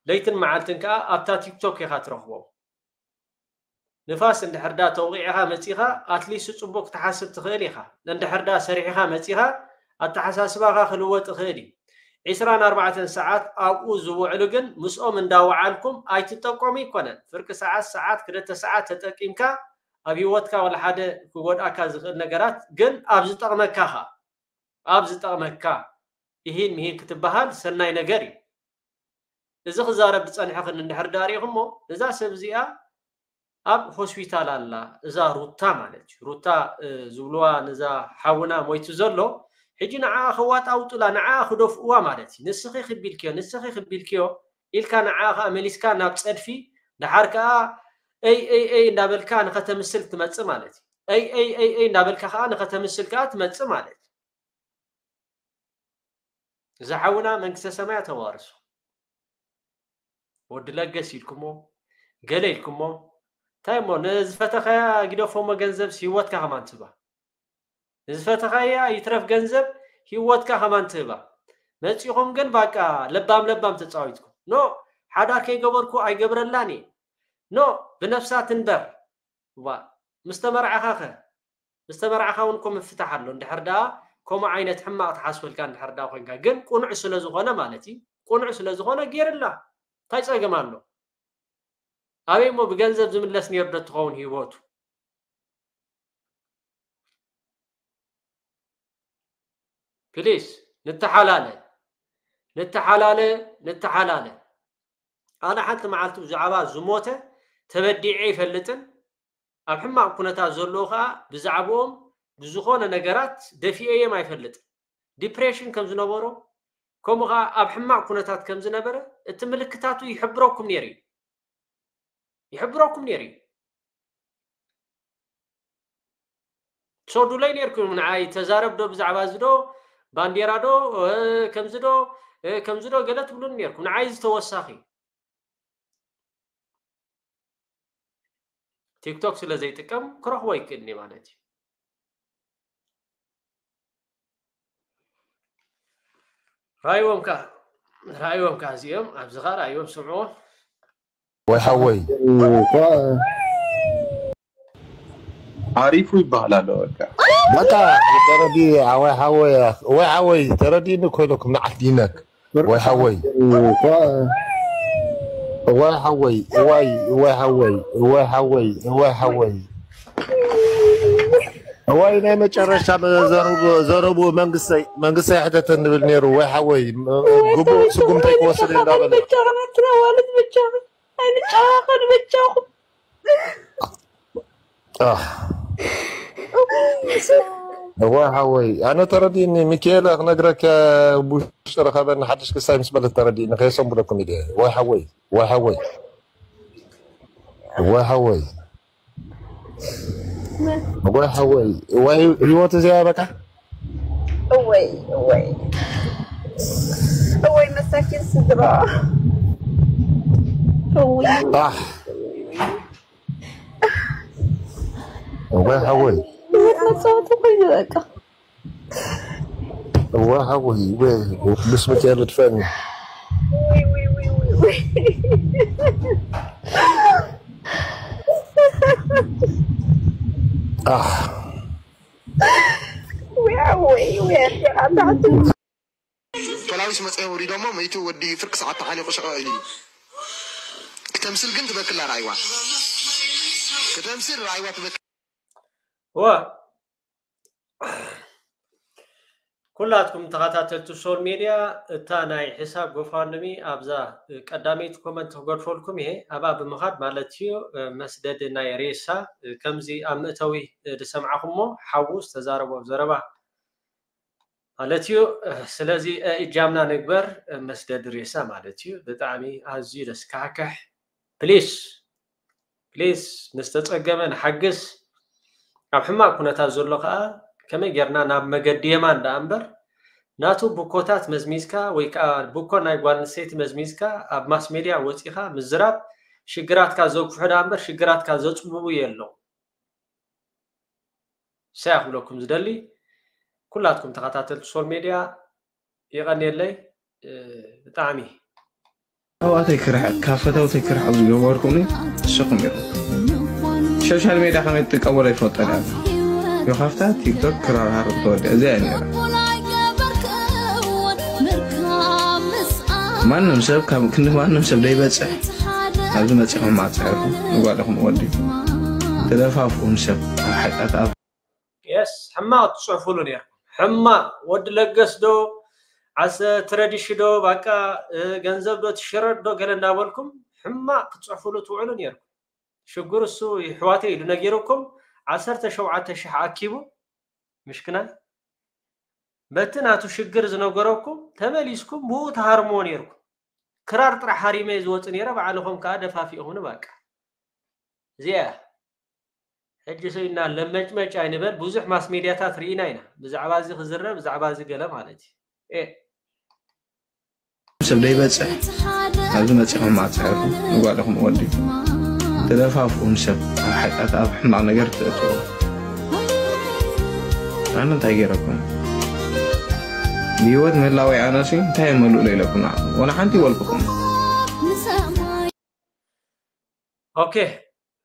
ለይትን መዓልትን ከዓ ኣብታ ቲክቶክ ኢኻ ትረኽቦም ንፋስ እንድሕር ዳ ተውቒዕኻ መጺኻ ኣትሊስት ጽቡቅ ክትሓስብ ትኽእል ኢኻ። እንድሕር ዳ ሰሪሕኻ መጺኻ ኣተሓሳስባኻ ክልወጥ ይኽእል እዩ። ዒስራን ኣርባዕተን ሰዓት ኣብኡ ዝውዕሉ ግን ምስኦም እንዳወዓልኩም ኣይትጠቀሙ ኣይኮነን። ፍርቂ ሰዓት ሰዓት ክልተ ሰዓት ተጠቂምካ ኣብ ህይወትካ ወላ ሓደ ክጎድኣካ ዝኽእል ነገራት ግን ኣብ ዝጠቕመካ ኸኣ ኣብ ዝጠቕመካ ኢሂን ምሂን ክትበሃል ሰናይ ነገር እዩ። እዚ ክዛረብ ዝጸንሐ ግን እንድሕር ዳ ሪኢኹሞ እዛ ሰብ እዚኣ ኣብ ሆስፒታል ኣላ እዛ ሩታ ማለት እዩ ሩታ ዝብልዋ ነዛ ሓውና ሞይቱ ዘሎ ሕጂ ንዓኣ ከዋጣውጡላ ንዓኣ ክደፍእዋ ማለት እዩ ንስኺ ክቢልክዮ ንስኺ ክቢልክዮ ኢልካ ንዓኣ ከዓ መሊስካ ናብ ፀድፊ ደሓር ከዓ እይ እይ እይ እንዳበልካ ንኸተምስል ትመፅእ ማለት እዩ እይ እይ እይ እይ እንዳበልካ ከዓ ንኸተምስል ከዓ ትመፅእ ማለት እዩ እዛ ሓውና መንግስተ ሰማያ ተዋርሶ ወዲ ለገስ ኢልኩሞ ገለ ኢልኩሞ እንታይ እሞ ንዝፈተኻያ ግደፎሞ ገንዘብ ህይወትካ ከማን ትህባ ንዝፈተኻያ ይትረፍ ገንዘብ ህይወትካ ከማን ትህባ መፂኹም ግን ባቃ ለባም ለባም ተፃዊትኩም ኖ ሓዳር ከይገበርኩ ኣይገብረላን እየ ኖ ብነፍሳ ትንበር ዋ ምስ ተመርዓኻ ከ ምስ ተመርዓኻ እውን እኮ ምፍታሕ ኣሎ እንድሕር ደኣ ከምኡ ዓይነት ሕማቕ ትሓስበልካ እንድሕር ደኣ ኮንካ ግን ቁኑዕ ስለ ዝኾነ ማለት እዩ ቁኑዕ ስለ ዝኾነ ጌርላ እንታይ ጸገም ኣሎ ኣበይ እሞ ብገንዘብ ዝምለስ ነይሩ ዶ ትኸውን ህይወቱ ፕሊስ ንተሓላለ ንተሓላለ ንተሓላለ ኣነ ሓንቲ መዓልቲ ብዛዕባ ዝሞተ ተበዲዐ ይፈልጥን ኣብ ሕማቕ ኩነታት ዘለዉ ከዓ ብዛዕባኦም ብዝኾነ ነገራት ደፊኤዮም ኣይፈልጥን ዲፕሬሽን ከም ዝነበሮ ከምኡ ከዓ ኣብ ሕማቕ ኩነታት ከም ዝነበረ እቲ ምልክታቱ ይሕብረኩም ነይሩ እዩ ይሕብረኩም ነይሩ እዩ ትሰዱለይ ነይርኩም ንዓይ ተዛረብ ዶ ብዛዕባ እዚ ዶ ባንዴራ ዶ ከምዚ ዶ ከምዚ ዶ ገለ ትብሉን ነይርኩም ንዓይ እዚ ተወሳኺ ቲክቶክ ስለ ዘይጥቀም ክረኽቦ ይክእልኒ ማለት እዩ። ራእይዎም ከ ራእይዎም ከ እዚኦም ኣብዚ ከ ራእይዎም ስምዕዎ። ወይ ሓወይ ኣሪፉ ይባሃል ኣሎ በቃ በቃ ተረዲ ወይ ሓወይ ወይ ሓወይ ተረዲኒ ኮይነኩም ንዓት ዲነክ ወይ ሓወይ ወይ ሓወይ ወይ ወይ ሓወይ ወይ ሓወይ ወይ ሓወይ ወይ ናይ መጨረሻ ዘረቡ መንግስተይ መንግስተይ ሕተተ ንብል ነይሩ ወይ ሓወይ ግቡእ ስጉምተይ ክወስድ እንዳበለ ብቻ ማለት ብቻ ኣይንጨዋኸን ብቻኹም እዋ ሓወይ ኣነ ተረዲእኒ ሚካኤል ክነግረከ ብውሽጢ ረኸበኒ ሓድሽ ክሳይ ምስ በለት ተረዲእኒ ከየሰንብለኩም ኢለ ወይ ሓወይ ወይ ሓወይ ወይ ሓወይ ወይ ሓወይ ወይ ህይወት እዚኣ በቃ እወይ እወይ እወይ መሳኪን ስድራ እወይ ኣሕ ወይ ሓወይ ህይወት መፃወቲ ኮይኑ በቃ ወይ ሓወይ ወይ ቅዱስ ሚካኤል ድፈኒ ውይ ውይ ውይ ውይ ውይ ኣሕ ውይ ውይ ውይ ኣዴኻ ታሕቲ ፖላዊስ መፅኦም ውሪዶሞ መይቱ ወዲ ፍርቂ ሰዓት ተሓኒቑ ሸቐ ኢሉ እዩ ክተምስል ግን ትበክላ ራእይዋ ክተምስል ራእይዋ ትበክል እዋ ኩላትኩም ተኸታተልቲ ሶል ሜድያ እታ ናይ ሕሳብ ጎፋንድሚ ኣብዛ ቀዳመይቲ ኮመንት ክገድፈልኩም እየ ኣብኣ ብምኻድ ማለት እዩ መስደዲ ናይ ሬሳ ከምዚ ኣብ መእተዊ ዝሰምዓኹሞ ሓዉ ዝተዛረቦ ዘረባ ማለት እዩ ስለዚ እጃምና ንግበር መስደዲ ሬሳ ማለት እዩ ብጣዕሚ ኣዝዩ ደስካሕክሕ ፕሊስ ፕሊስ ንዝተፀገመ ንሓግዝ ኣብ ሕማቅ ኩነታት ዘሎ ከዓ ከመይ ጌርና ናብ መገዲ የማን ደኣ እምበር ናቱ ብኮታት መዝሚዝካ ወይ ከዓ ብኮ ናይ ጓል ኣንስተይቲ መዝሚዝካ ኣብ ማስ ሜድያ ወፂኻ ምዝራብ ሽግራትካ ዘጉፍሑ ደኣ እምበር ሽግራትካ ዘፅብቡ የለው ሳያ ክብለኩም ዝደሊ ኩላትኩም ተኸታተልቲ ሶል ሜድያ የቐንየለይ ብጣዕሚ ኣሕዋተይ ክርሕቕ ካብ ፈተውተይ ክርሕቕ ዝገበርኩኒ ንስኹም ኢኹም። ሶሻል ሜድያ ከመይ ትጥቀመሉ ኣይፈልጦን እየ። ዮኻፍታ ቲክቶክ ክራርሃር ተወዲኣ እዚኣ እያ ነይራ። ማንም ሰብ ካብ ክንዲ ማንም ሰብ ደይበፅሕ ኣብዚ መፂኹም ኣፅሕርኩም ንጓልኹም ወዲ ተደፋፍኡም ሰብ ኣብ ሓጢኣት ኣብ የስ ሕማቕ ትፅሕፉሉ ነርኩም ሕማቕ ወዲ ለገስ ዶ ዓሰ ትረዲሽ ዶ ባቃ ገንዘብ ዶ ትሽረድ ዶ ገለ እንዳበልኩም ሕማቕ ክትፅሕፉሉ ትውዕሉ ነርኩም ሽግር እሱ ይሕዋተ ኢሉ ነጊሩኩም ዓሰርተ ሸውዓተ ሽሕ ኣኪቡ ምሽክናይ በቲ ናቱ ሽግር ዝነገረኩም ተመሊስኩም ብኡ ተሃርምዎ ነርኩም ክራር ጥራሕ ሃሪመ ዝወፅ ነረ ባዕልኹም ከዓ ደፋፊእኹም ባቃ እዚኣ ሕጂ ሰው ኢና ለመጭመጭ ኣይንበል ብዙሕ ማስ ሜድያታት ርኢና ኢና ብዛዕባ እዚ ክዝረ ብዛዕባ እዚ ገለ ማለት እዩ ሰብ ደይበፅሕ ኣብዚ መፂኹም ኣፅሕርኩም ንጓልኹም ወዲ ተደፋፍኡም ሰብ ኣብ ሓጢኣት ኣብ ሕማቕ ነገር ትእትዎ ኣነ እንታይ ገይረኩም ብህይወት ምህላወይ ኣነሲ እንታይ የመልእሎ ኢለኩም ንዓኹም ወላ ሓንቲ ይበልኩኹም ኦኬ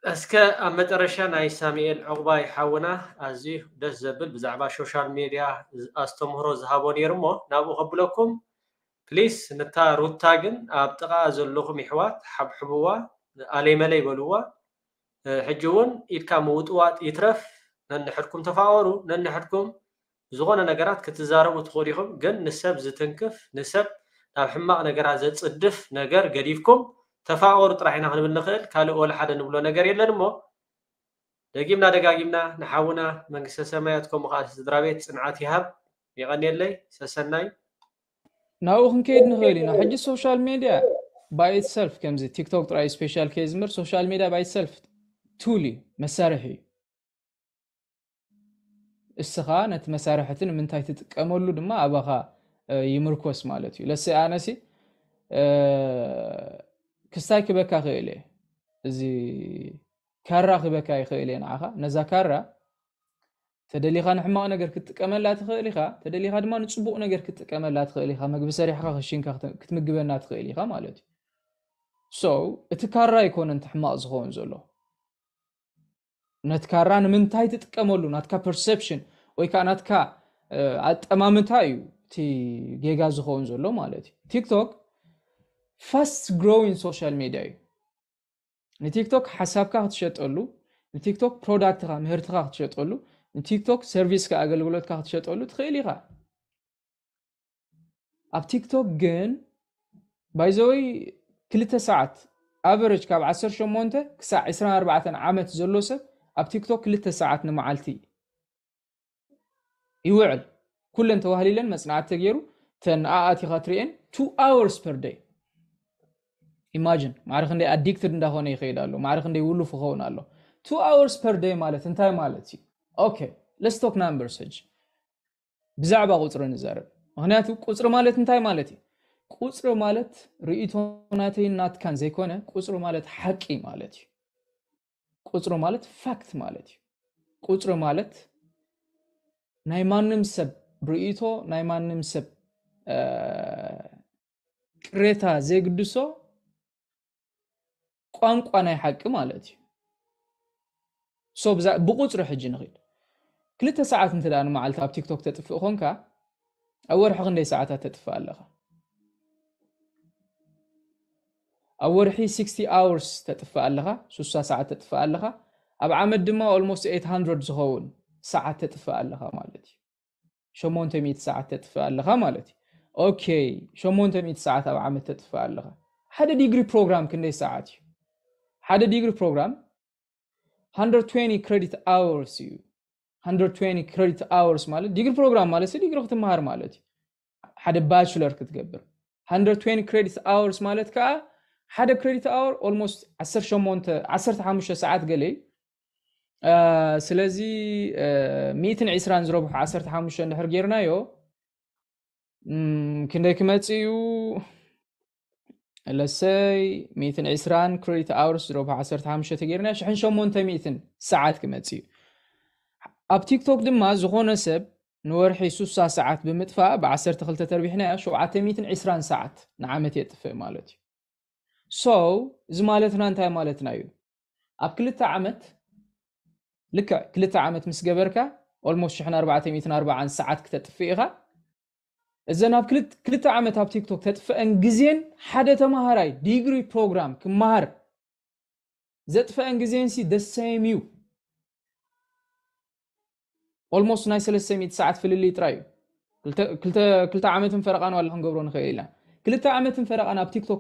እስከ ኣብ መጨረሻ ናይ ሳሙኤል ዕቑባይ ሓውና ኣዝዩ ደስ ዘብል ብዛዕባ ሶሻል ሜድያ ኣስተምህሮ ዝሃቦ ነይሩ እሞ ናብኡ ከብለኩም ፕሊስ ንታ ሩታ ግን ኣብ ጥቓ ዘለኹም ይሕዋት ሓብሕብዋ ኣለይ መለይ በልዋ ሕጂ እውን ኢድካ ምውጥዋጥ ይትረፍ ነንሕድኩም ተፋቐሩ ነንሕድኩም ዝኾነ ነገራት ክትዛረቡ ትኽእሉ ኢኹም ግን ንሰብ ዝትንክፍ ንሰብ ናብ ሕማቕ ነገራት ዘፅድፍ ነገር ገዲፍኩም ተፋቐሩ ጥራሕ ኢና ክንብል ንኽእል ካልእ ወላ ሓደ ንብሎ ነገር የለን እሞ ደጊምና ደጋጊምና ንሓውና መንግስተ ሰማያት ከምኡ ከዓ ስድራ ቤት ፅንዓት ይሃብ የቐንየለይ ሰሰናይ ናብኡ ክንከይድ ንኽእል ኢና ሕጂ social media by itself ከምዚ ቲክቶክ ጥራይ special case እምበር social media by itself tool እዩ መሳርሒ እዩ እስኻ ነቲ መሳርሕቲ ንምንታይ ትጥቀመሉ ድማ ኣባኻ ይምርኮስ ማለት እዩ ለሰ ኣነሲ ክስታይ ክበካ ክእል እየ እዚ ካራ ክበካ ይኽእል እየ ንዓኻ። ነዛ ካራ ተደሊኻ ንሕማቕ ነገር ክትጥቀመላ ትኽእል ኢኻ፣ ተደሊኻ ድማ ንጽቡቕ ነገር ክትጥቀመላ ትኽእል ኢኻ። መግቢ ሰሪሕካ ክሽንካ ክት- ክትምግበና ትኽእል ኢኻ ማለት እዩ። So እቲ ካራ ኣይኮነን እቲ ሕማቕ ዝኸውን ዘሎ። ነቲ ካራ ንምንታይ ትጥቀመሉ፣ ናትካ perception ወይ ከዓ ናትካ ኣጠማምታ እዩ እቲ ጌጋ ዝኸውን ዘሎ ማለት እዩ። ቲክቶክ fast growing social media እዩ። ንቲክቶክ ሓሳብካ ክትሸጠሉ፣ ንቲክቶክ ፕሮዳክትካ ምህርትካ ክትሸጠሉ፣ ንቲክቶክ ሰርቪስካ ኣገልግሎትካ ክትሸጠሉ ትኽእል ኢኻ። ኣብ ቲክቶክ ግን ባይዘወይ ክልተ ሰዓት ኣቨረጅ ካብ ዓሰርተ ሸሞንተ ክሳዕ ዕስራን ኣርባዕተን ዓመት ዘሎ ሰብ ኣብ ቲክቶክ ክልተ ሰዓት ንመዓልቲ ይውዕል። ኩለን ተዋህሊለን መጽናዕቲ ተገይሩ ተን ኣኣቲኻ ትርእን two hours per day። Imagine ማዕረ ክንደይ ኣዲክትድ እንዳኾነ ይኸይድ ኣሎ፣ ማዕረ ክንደይ ውሉፍ ይኸውን ኣሎ። Two hours per day ማለት እንታይ ማለት እዩ? Okay, let's talk numbers ሕጂ። ብዛዕባ ቁፅሪ ንዛረብ። ምክንያቱ ቁፅሪ ማለት እንታይ ማለት እዩ? ቁፅሪ ማለት ርእይቶ ናተይን ናትካን ዘይኮነ፣ ቁፅሪ ማለት ሓቂ ማለት እዩ። ቁፅሪ ማለት ፋክት ማለት እዩ። ቁፅሪ ማለት ናይ ማንም ሰብ ርእይቶ፣ ናይ ማንም ሰብ ቅሬታ ዘይግድሶ ቋንቋ ናይ ሓቂ ማለት እዩ። So ብቁፅሪ ሕጂ ንኽድ። ክልተ ሰዓት እንተ ንመዓልቲ ኣብ ቲክቶክ ተጥፍእ ኮንካ ኣብ ወርሒ ክንደይ ሰዓታት ተጥፍእ ኣለኻ? ኣብ ወርሒ sixty hours ተጥፍእ ኣለኻ፣ ስሳ ሰዓት ተጥፍእ ኣለኻ። ኣብ ዓመት ድማ almost eight hundred ዝኸውን ሰዓት ተጥፍእ ኣለኻ ማለት እዩ። ሸሞንተ ሚእቲ ሰዓት ተጥፍእ ኣለኻ ማለት እዩ። ኦኬ፣ ሸሞንተ ሚእቲ ሰዓት ኣብ ዓመት ተጥፍእ ኣለኻ። ሓደ ዲግሪ ፕሮግራም ክንደይ ሰዓት እዩ? ሓደ ዲግሪ ፕሮግራም one hundred twenty credit hours እዩ። One hundred twenty credit hours ማለት ዲግሪ ፕሮግራም ማለት ዲግሪ ክትመሃር ማለት እዩ። ሓደ ባችለር ክትገብር one hundred twenty credit hours ማለት ከዓ ሓደ credit hour almost ዓሰርተ ሸሞንተ ዓሰርተ ሓሙሽተ ሰዓት ገለ እዩ። ስለዚ ሚእትን ዕስራን ዝረብሑ ዓሰርተ ሓሙሽተ እንድሕር ጌርናዮ ክንደይ ክመፅእ እዩ? ለሰይ ሚእትን ዕስራን credit hours ዝረብሑ ዓሰርተ ሓሙሽተ ተጌርና ሽሕን ሸሞንተ ሚእትን ሰዓት ክመፅእ እዩ። ኣብ ቲክቶክ ድማ ዝኾነ ሰብ ንወርሒ ስሳ ሰዓት ብምጥፋእ ብ ዓሰርተ ክልተ ተርቢሕናዮ ሸውዓተ ሚእትን ዕስራን ሰዓት ንዓመት የጥፍእ ማለት እዩ። So እዚ ማለትና እንታይ ማለትና እዩ? ኣብ ክልተ ዓመት ልክዕ ክልተ ዓመት ምስ ገበርካ almost ሽሕን ኣርባዕተ ሚእትን ኣርባዓን ሰዓት ክተጥፍእ ኢኻ። እዘን ኣብ ክልተ ዓመት ኣብ ቲክቶክ ተጥፍአን ግዜን ሓደ ተማሃራይ ዲግሪ ፕሮግራም ክመሃር ዘጥፍአን ግዜን ሲ the same እዩ። Almost ናይ ሰለስተ ሚእቲ ሰዓት ፍልልይ ጥራይ እዩ። ክልተ ዓመትን ፈረቓን ዋላ ክንገብሮ ንኽእል ኢና። ክልተ ዓመትን ፈረቓን ኣብ ቲክቶክ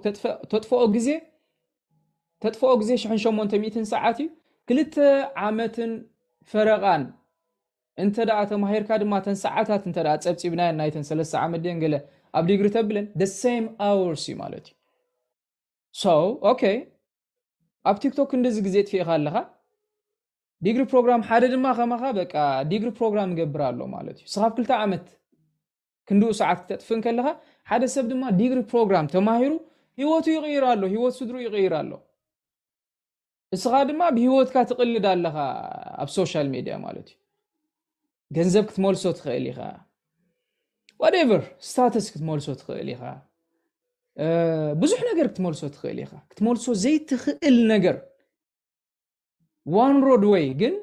ተጥፍኦ ግዜ ተጥፍኦ ግዜ ሽሕን ሸሞንተ ሚእትን ሰዓት እዩ። ክልተ ዓመትን ፈረቓን እንተ ደኣ ተማሂርካ ድማ ተን ሰዓታት እንተ ደኣ ጸብጺብናየን ናይተን ሰለስተ ዓመት ድየን ገለ ኣብ ዲግሪ ተብለን the same hours እዩ ማለት እዩ። So okay ኣብ ቲክቶክ ክንድዚ ግዜ ጥፊእኻ ኣለኻ። ዲግሪ ፕሮግራም ሓደ ድማ ከማኻ በቃ ዲግሪ ፕሮግራም ይገብር ኣሎ ማለት እዩ። ስኻብ ክልተ ዓመት ክንድኡ ሰዓት ክተጥፍእ እንከለኻ ሓደ ሰብ ድማ ዲግሪ ፕሮግራም ተማሂሩ ህይወቱ ይቕይር ኣሎ፣ ህይወት ስድሩ ይቕይር ኣሎ። እስኻ ድማ ብህይወትካ ትቕልድ ኣለኻ ኣብ ሶሻል ሜድያ ማለት እዩ። ገንዘብ ክትመልሶ ትኽእል ኢኻ፣ whatever ስታተስ ክትመልሶ ትኽእል ኢኻ፣ ብዙሕ ነገር ክትመልሶ ትኽእል ኢኻ። ክትመልሶ ዘይትኽእል ነገር one road way ግን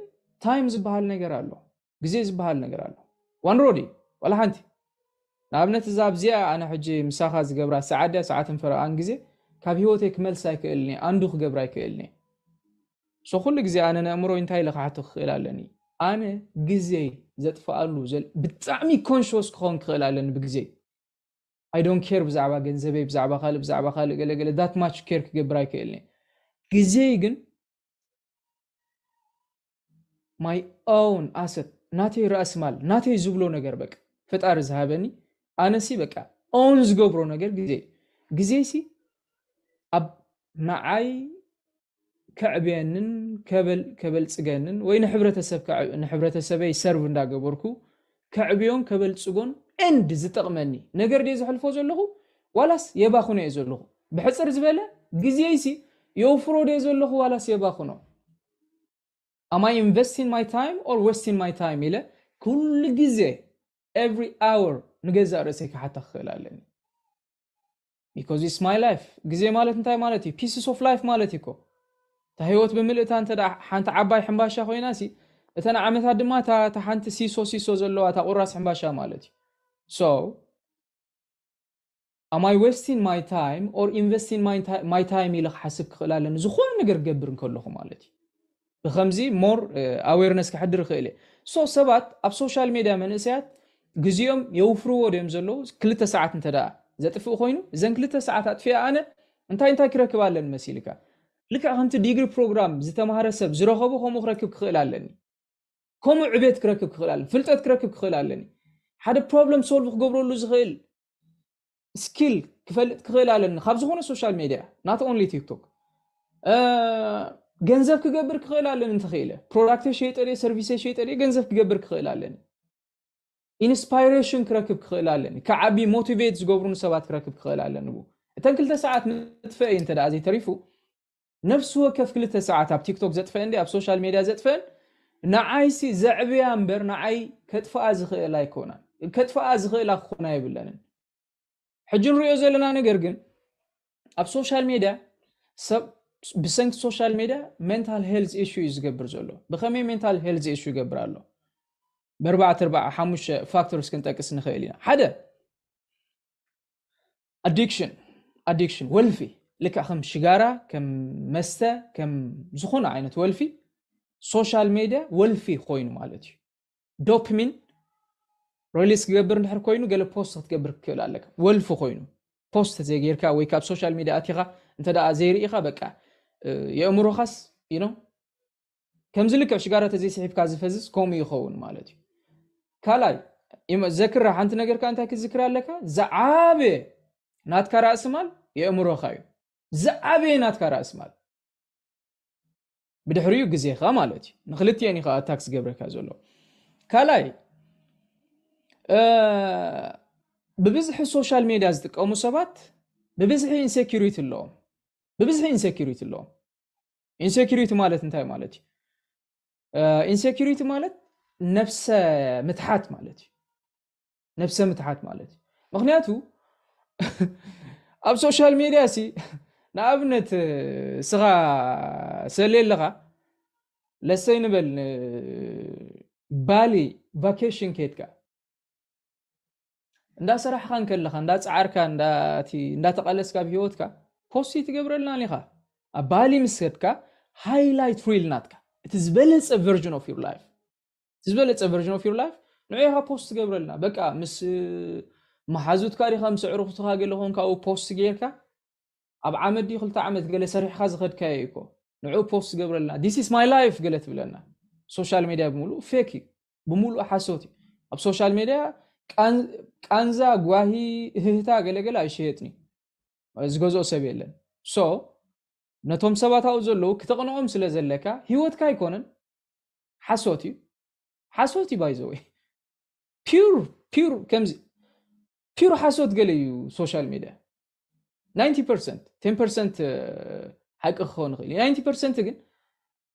ታይም ዝበሃል ነገር ኣሎ፣ ግዜ ዝበሃል ነገር ኣሎ። One road እዩ ዋላ ሓንቲ። ንኣብነት እዛ ኣብዚኣ ኣነ ሕጂ ምሳኻ ዝገብራ ሰዓት ድያ ሰዓትን ፈረቓን ግዜ ካብ ህይወተይ ክመልስ ኣይክእልን እየ፣ ኣንዱ ክገብር ኣይክእልን እየ። So ኩሉ ግዜ ኣነ ነእምሮ እንታይ ኢለ ክሓቶ ክኽእል ኣለኒ? ኣነ ግዜ ዘጥፍኣሉ ብጣዕሚ ኮንሽስ ክኸውን ክኽእል ኣለኒ ብግዜ። I don't care ብዛዕባ ገንዘበይ ብዛዕባ ካልእ ብዛዕባ ካልእ ገለገለ that much care ክገብር ኣይክእልን እየ። ግዜይ ግን my own asset ናተይ ራእሲ ማል ናተይ ዝብሎ ነገር በቃ ፈጣሪ ዝሃበኒ ኣነሲ በቃ own ዝገብሮ ነገር ግዜ ግዜሲ ኣብ ንዓይ ከዕብየንን ከበልጽገንን ወይ ንሕብረተሰብ ንሕብረተሰበይ ሰርቭ እንዳገበርኩ ከዕብዮን ከበልጽጎን ኤንድ ዝጠቕመኒ ነገር ድየ ዘሕልፎ ዘለኹ ዋላስ የባኽኖ እየ ዘለኹ? ብሕፅር ዝበለ ግዜይሲ የውፍሮ ድየ ዘለኹ ዋላስ የባኽኖ? Am I investing my time or wasting my time ኢለ ኩሉ ግዜ every hour ንገዛእ ርእሰይ ክሓታ ክኽእል ኣለኒ። Because it's my life። ግዜ ማለት እንታይ ማለት እዩ? Pieces of life ማለት እዩ እኮ። እታ ህይወት ብምልእታ እንተ ደኣ ሓንቲ ዓባይ ሕምባሻ ኮይና ሲ፣ እተን ዓመታት ድማ እታ፣ እታ ሓንቲ ሲሶ ሲሶ ዘለዋ እታ ቁራስ ሕምባሻ ማለት እዩ። So am I wasting my time or investing my time ኢለ ክሓስብ ክኽእል ኣለኒ ዝኾነ ነገር ክገብር እንከለኹ ማለት እዩ። ብከምዚ more awareness ክሕድር ይኽእል እየ። So ሰባት ኣብ ሶሻል ሜድያ መንእሰያት ግዜኦም የውፍርዎ ድዮም ዘለዉ? ክልተ ሰዓት እንተ ደኣ ዘጥፍእ ኮይኑ፣ እዘን ክልተ ሰዓት ኣጥፊኣ ኣነ እንታይ እንታይ ክረክብ ኣለኒ መሲልካ? ልክዕ ከምቲ ዲግሪ ፕሮግራም ዝተማህረ ሰብ ዝረኸቦ ከምኡ ክረክብ ክኽእል ኣለኒ። ከምኡ ዕቤት ክረክብ ክኽእል ኣለኒ፣ ፍልጠት ክረክብ ክኽእል ኣለኒ። ሓደ problem solve ክገብረሉ ዝኽእል skill ክፈልጥ ክኽእል ኣለኒ ካብ ዝኾነ ሶሻል ሜድያ፣ not only TikTok። ገንዘብ ክገብር ክኽእል ኣለኒ እንተኽኢለ፣ product ሸይጠ ድየ፣ service ሸይጠ ድየ፣ ገንዘብ ክገብር ክኽእል ኣለኒ። Inspiration ክረክብ ክኽእል ኣለኒ፣ ክዓቢ motivate ዝገብሩኒ ሰባት ክረክብ ክኽእል ኣለኒ። እተን ክልተ ሰዓት ምጥፍአ እዩ እንተ ደኣ ዘይተሪፉ፣ ነፍሲ ወከፍ ክልተ ሰዓት ኣብ ቲክቶክ ዘጥፍአን ድየ ኣብ ሶሻል ሜድያ ዘጥፍአን፣ ንዓይሲ ዘዕብያ እምበር ንዓይ ከጥፍኣ ዝኽእል ኣይኮናን። ከጥፍኣ ዝኽእላ ክኾና የብለንን። ሕጂ ንሪኦ ዘለና ነገር ግን ኣብ ሶሻል ሜድያ ሰብ ብሰንኪ ሶሻል ሜድያ mental health issue እዩ ዝገብር ዘሎ። ብኸመይ mental health issue ይገብር ኣሎ? ብኣርባዕተ፣ ኣርባዓ፣ ሓሙሽተ factors ክንጠቅስ ንኽእል ኢና። ሓደ፣ addiction፣ addiction፣ ወልፊ፣ ልክዕ ከም ሽጋራ፣ ከም መስተ፣ ከም ዝኾነ ዓይነት ወልፊ፣ ሶሻል ሜድያ ወልፊ ኮይኑ ማለት እዩ። ዶፓሚን ሪሊስ ክገብር እንድሕር ኮይኑ፣ ገለ ፖስት ክትገብር ክትክእል ኣለካ። ወልፊ ኮይኑ፣ ፖስት ዘይጌርካ ወይ ካብ ሶሻል ሜድያ ኣቲኻ እንተ ደኣ ዘይርኢኻ፣ በቃ፣ እ፣ የእምሮኻስ፣ you know፣ ከምዚ ልክዕ ሽጋራ ተዘይስሒብካ ዝፈዝዝ ከምኡ ይኸውን ማለት እዩ። ካልኣይ፣ ይመ-፣ ዘክራ ሓንቲ ነገር ከኣ እንታይ ክትዝክር ኣለካ? ዝዓበየ ናትካ ራእሲ ማል የእምሮኻ እዩ። ዝዓበየ ናትካ ራእሲ ማል። ብድሕሪኡ ግዜኻ ማለት እዩ። ንክልቲኤን እዩ ከኣ ኣታክ ዝገብረካ ዘሎ። ካልኣይ፣ እ፣ ብብዝሒ ሶሻል ሜድያ ዝጥቀሙ ሰባት ብብዝሒ ኢንሴኪሪቲ ኣለዎም። ብብዝሒ ኢንሴኪሪቲ ኣለዎም። ኢንሴኪሪቲ ማለት እንታይ ማለት እዩ? እ፣ ኢንሴኪሪቲ ማለት ነብሰ ምትሓት ማለት እዩ። ነብሰ ምትሓት ማለት እዩ። ምኽንያቱ ኣብ ሶሻል ሜድያ ሲ፣ ንኣብነት፣ ስኻ ሰሌ ኣለኻ፣ ለሰይ ንበል፣ ን-፣ ባሊ ቫኬሽን ከድካ፣ እንዳሰራሕካ እንከለኻ፣ እንዳጻዓርካ፣ እንዳ-፣ እቲ እንዳተቓለስካ ኣብ ህይወትካ፣ ፖስት ትገብረልና ኢኻ። ኣብ ባሊ ምስ ከድካ፣ ሃይላይት ሪል ናትካ፣ እቲ ዝበለጸ ቨርዥን ኦፍ ዩር ላይፍ፣ እቲ ዝበለጸ ቨርዥን ኦፍ ዩር ላይፍ፣ ንዑ ኢኻ ፖስት ትገብረልና። በቃ፣ ምስ መሓዙትካ ዲኻ፣ ምስ ኣዕሩኽትኻ ገለ ኾንካ፣ ኣብኡ ፖስት ጌርካ፣ ኣብ ዓመት ድዩ ክልተ ዓመት ገለ ሰሪሕካ ዝኸድካዮ እዩ እኮ። ንዑ ፖስት ትገብረልና። This is my life ገለ ትብለና። ሶሻል ሜድያ ብምሉእ ፌክ እዩ። ብምሉእ ሓሶት እዩ። ኣብ ሶሻል ሜድያ ቃን-፣ ቃንዛ፣ ጓሂ፣ እህህታ፣ ገለገለ ኣይሽየጥን እዩ። ዝገዝኦ ሰብ የለን። ሶ፣ ነቶም ሰባት ኣብኡ ዘለዉ ክተቕንኦም ስለ ዘለካ፣ ህይወትካ ኣይኮነን። ሓሶት እዩ። ሓሶት እዩ፣ by the way። ፒውር፣ ፒውር ከምዚ፣ ፒውር ሓሶት ገለ እዩ ሶሻል ሜድያ። ናይንቲ ፐርሰንት፣ ቴን ፐርሰንት ሓቂ ክኸውን ይኽእል እዩ። ናይንቲ ፐርሰንት ግን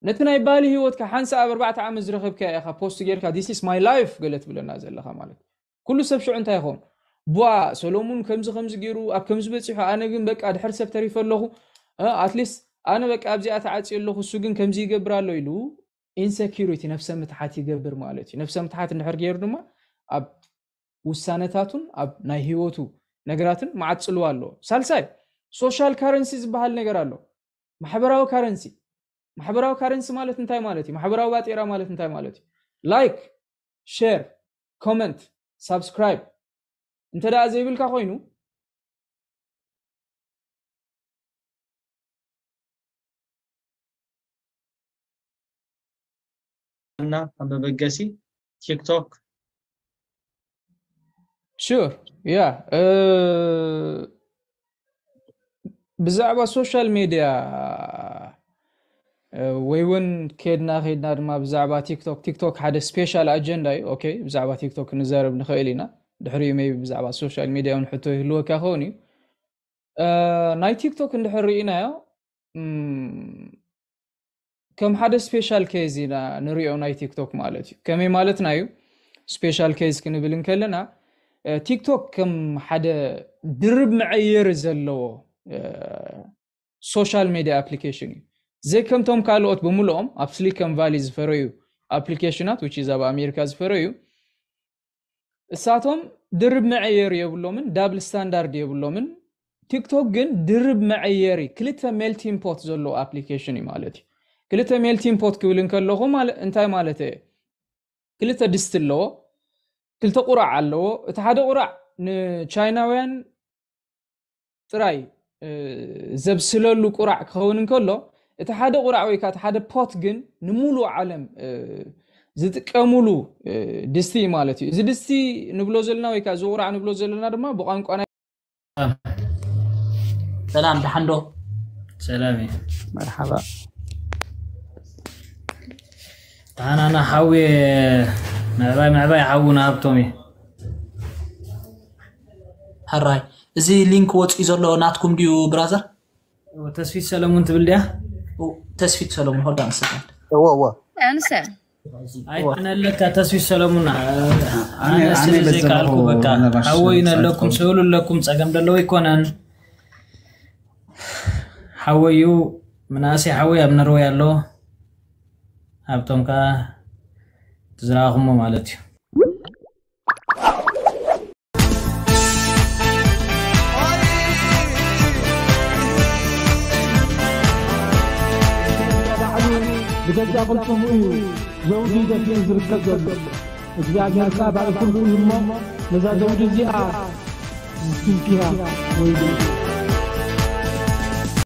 ነቲ ናይ ባሊ ህይወትካ ሓንሳእ ኣብ ኣርባዕተ ዓመት ዝረኸብካዮ ኢኻ ፖስት ጌርካ፣ "This is my life" ገለ ትብለና ዘለኻ ማለት እዩ። ኩሉ ሰብ ሽዑ እንታይ ይኸውን? "ቧ፣ ሰሎሙን ከምዚ ከምዚ ገይሩ፣ ኣብ ከምዚ በጺሑ፣ ኣነ ግን በቃ ድሕሪ ሰብ ተሪፈ ኣለኹ። እ፣ ኣትሊስት ኣነ በቃ ኣብዚኣ ተዓጽየ ኣለኹ፣ እሱ ግን ከምዚ ይገብር ኣሎ" ኢሉ ኢንሴኪሪቲ፣ ነፍሰ ምትሓት ይገብር ማለት እዩ። ነፍሰ ምትሓት እንድሕር ገይሩ ድማ ኣብ ውሳነታቱን ኣብ ናይ ህይወቱ ነገራትን መዓጽልዋ ኣለዎ። ሳልሳይ፣ ሶሻል ካረንሲ ዝበሃል ነገር ኣሎ። ማሕበራዊ ካረንሲ። ማሕበራዊ ካረንሲ ማለት እንታይ ማለት እዩ? ማሕበራዊ ባጤራ ማለት እንታይ ማለት እዩ? ላይክ፣ ሼር፣ ኮመንት፣ ሳብስክራይብ እንተ ደኣ ዘይብልካ ኮይኑ፣ እና ኣብ መበገሲ ቲክቶክ። ሹር፣ ያ፣ እ፣ ብዛዕባ ሶሻል ሜድያ፣ እ፣ ወይ እውን ከድና ከድና ድማ ብዛዕባ ቲክቶክ፣ ቲክቶክ ሓደ ስፔሻል ኣጀንዳ እዩ። ኦኬ፣ ብዛዕባ ቲክቶክ ክንዛረብ ንኽእል ኢና። ድሕሪኡ ሜይቢ ብዛዕባ ሶሻል ሜድያ እውን ሕቶ ይህልወካ ክኸውን እዩ። እ፣ ናይ ቲክቶክ እንድሕር ርኢናዮ፣ እም፣ ከም ሓደ special case ኢና ንሪኦ ናይ ቲክቶክ ማለት እዩ። ከመይ ማለትና እዩ? Special case ክንብል እንከለና እ፣ ቲክቶክ ከም ሓደ ድርብ መዐየሪ ዘለዎ social media application እዩ። ዘይከምቶም ካልኦት ብምልኦም ኣብ Silicon Valley ዝፈረዩ ኣፕሊኬሽናት፣ which is ኣብ ኣሜሪካ ዝፈረዩ፣ እሳቶም ድርብ መዐየሪ የብሎምን፣ double standard የብሎምን። ቲክቶክ ግን ድርብ መዐየሪ፣ ክልተ melting pot ዘለዎ ኣፕሊኬሽን እዩ ማለት እዩ። ክልተ melting pot ክብል እንከለኹ ማለ-፣ እንታይ ማለት እየ? ክልተ ድስቲ ኣለዎ፣ ክልተ ቁራዕ ኣለዎ። እቲ ሓደ ቁራዕ ንቻይናውያን ጥራይ እ፣ ዘብስለሉ ቁራዕ ክኸውን እንከሎ፣ እቲ ሓደ ቁራዕ ወይ ከዓ እቲ ሓደ ፖት ግን ንሙሉእ ዓለም እ፣ ዝጥቀሙሉ እ፣ ድስቲ እዩ ማለት እዩ። እዚ ድስቲ ንብሎ ዘለና ወይ ከዓ እዚ ቁራዕ ንብሎ ዘለና ድማ ብቋንቋ ናይ ሰላም ደሓን ዶ? ሰላም እዩ። መርሓባ። ኣናና ሓዊ ምዕባይ ምዕባይ ሓዊ ንሃብቶም እዩ። ሕራይ፣ እዚ ሊንክ ወፂኡ ዘሎ ናትኩም ድዩ ብራዘር? ተስፊት ሰለሙን ትብል ድያ? ተስፊት ሰለሙን፣ hold on a second። እዎ እዎ ኣንሰ ኣይኮነለካ ተስፊት ሰለሙን። ኣነ ስለ ዘይከኣልኩ በቃ ሓወይ ነለኩም ስእሉ ኣለኩም፣ ፀገም ደለዎ ኣይኮነን። ሓወዩ ምናእሰይ ሓወይ ኣብ ነርወይ ኣሎ። ሃብቶም ከዓ ትዝረኣኹሞ ማለት እዩ። ብገዛ ቅልጽሙ እዩ ዘውዲ ደፊኡ ዝርከብ ዘሎ። እግዚኣብሔር ከኣ ባዕሉ ኩሉ እዩ እሞ ነዛ ዘውዲ እዚኣ ዝስንክያ ወይ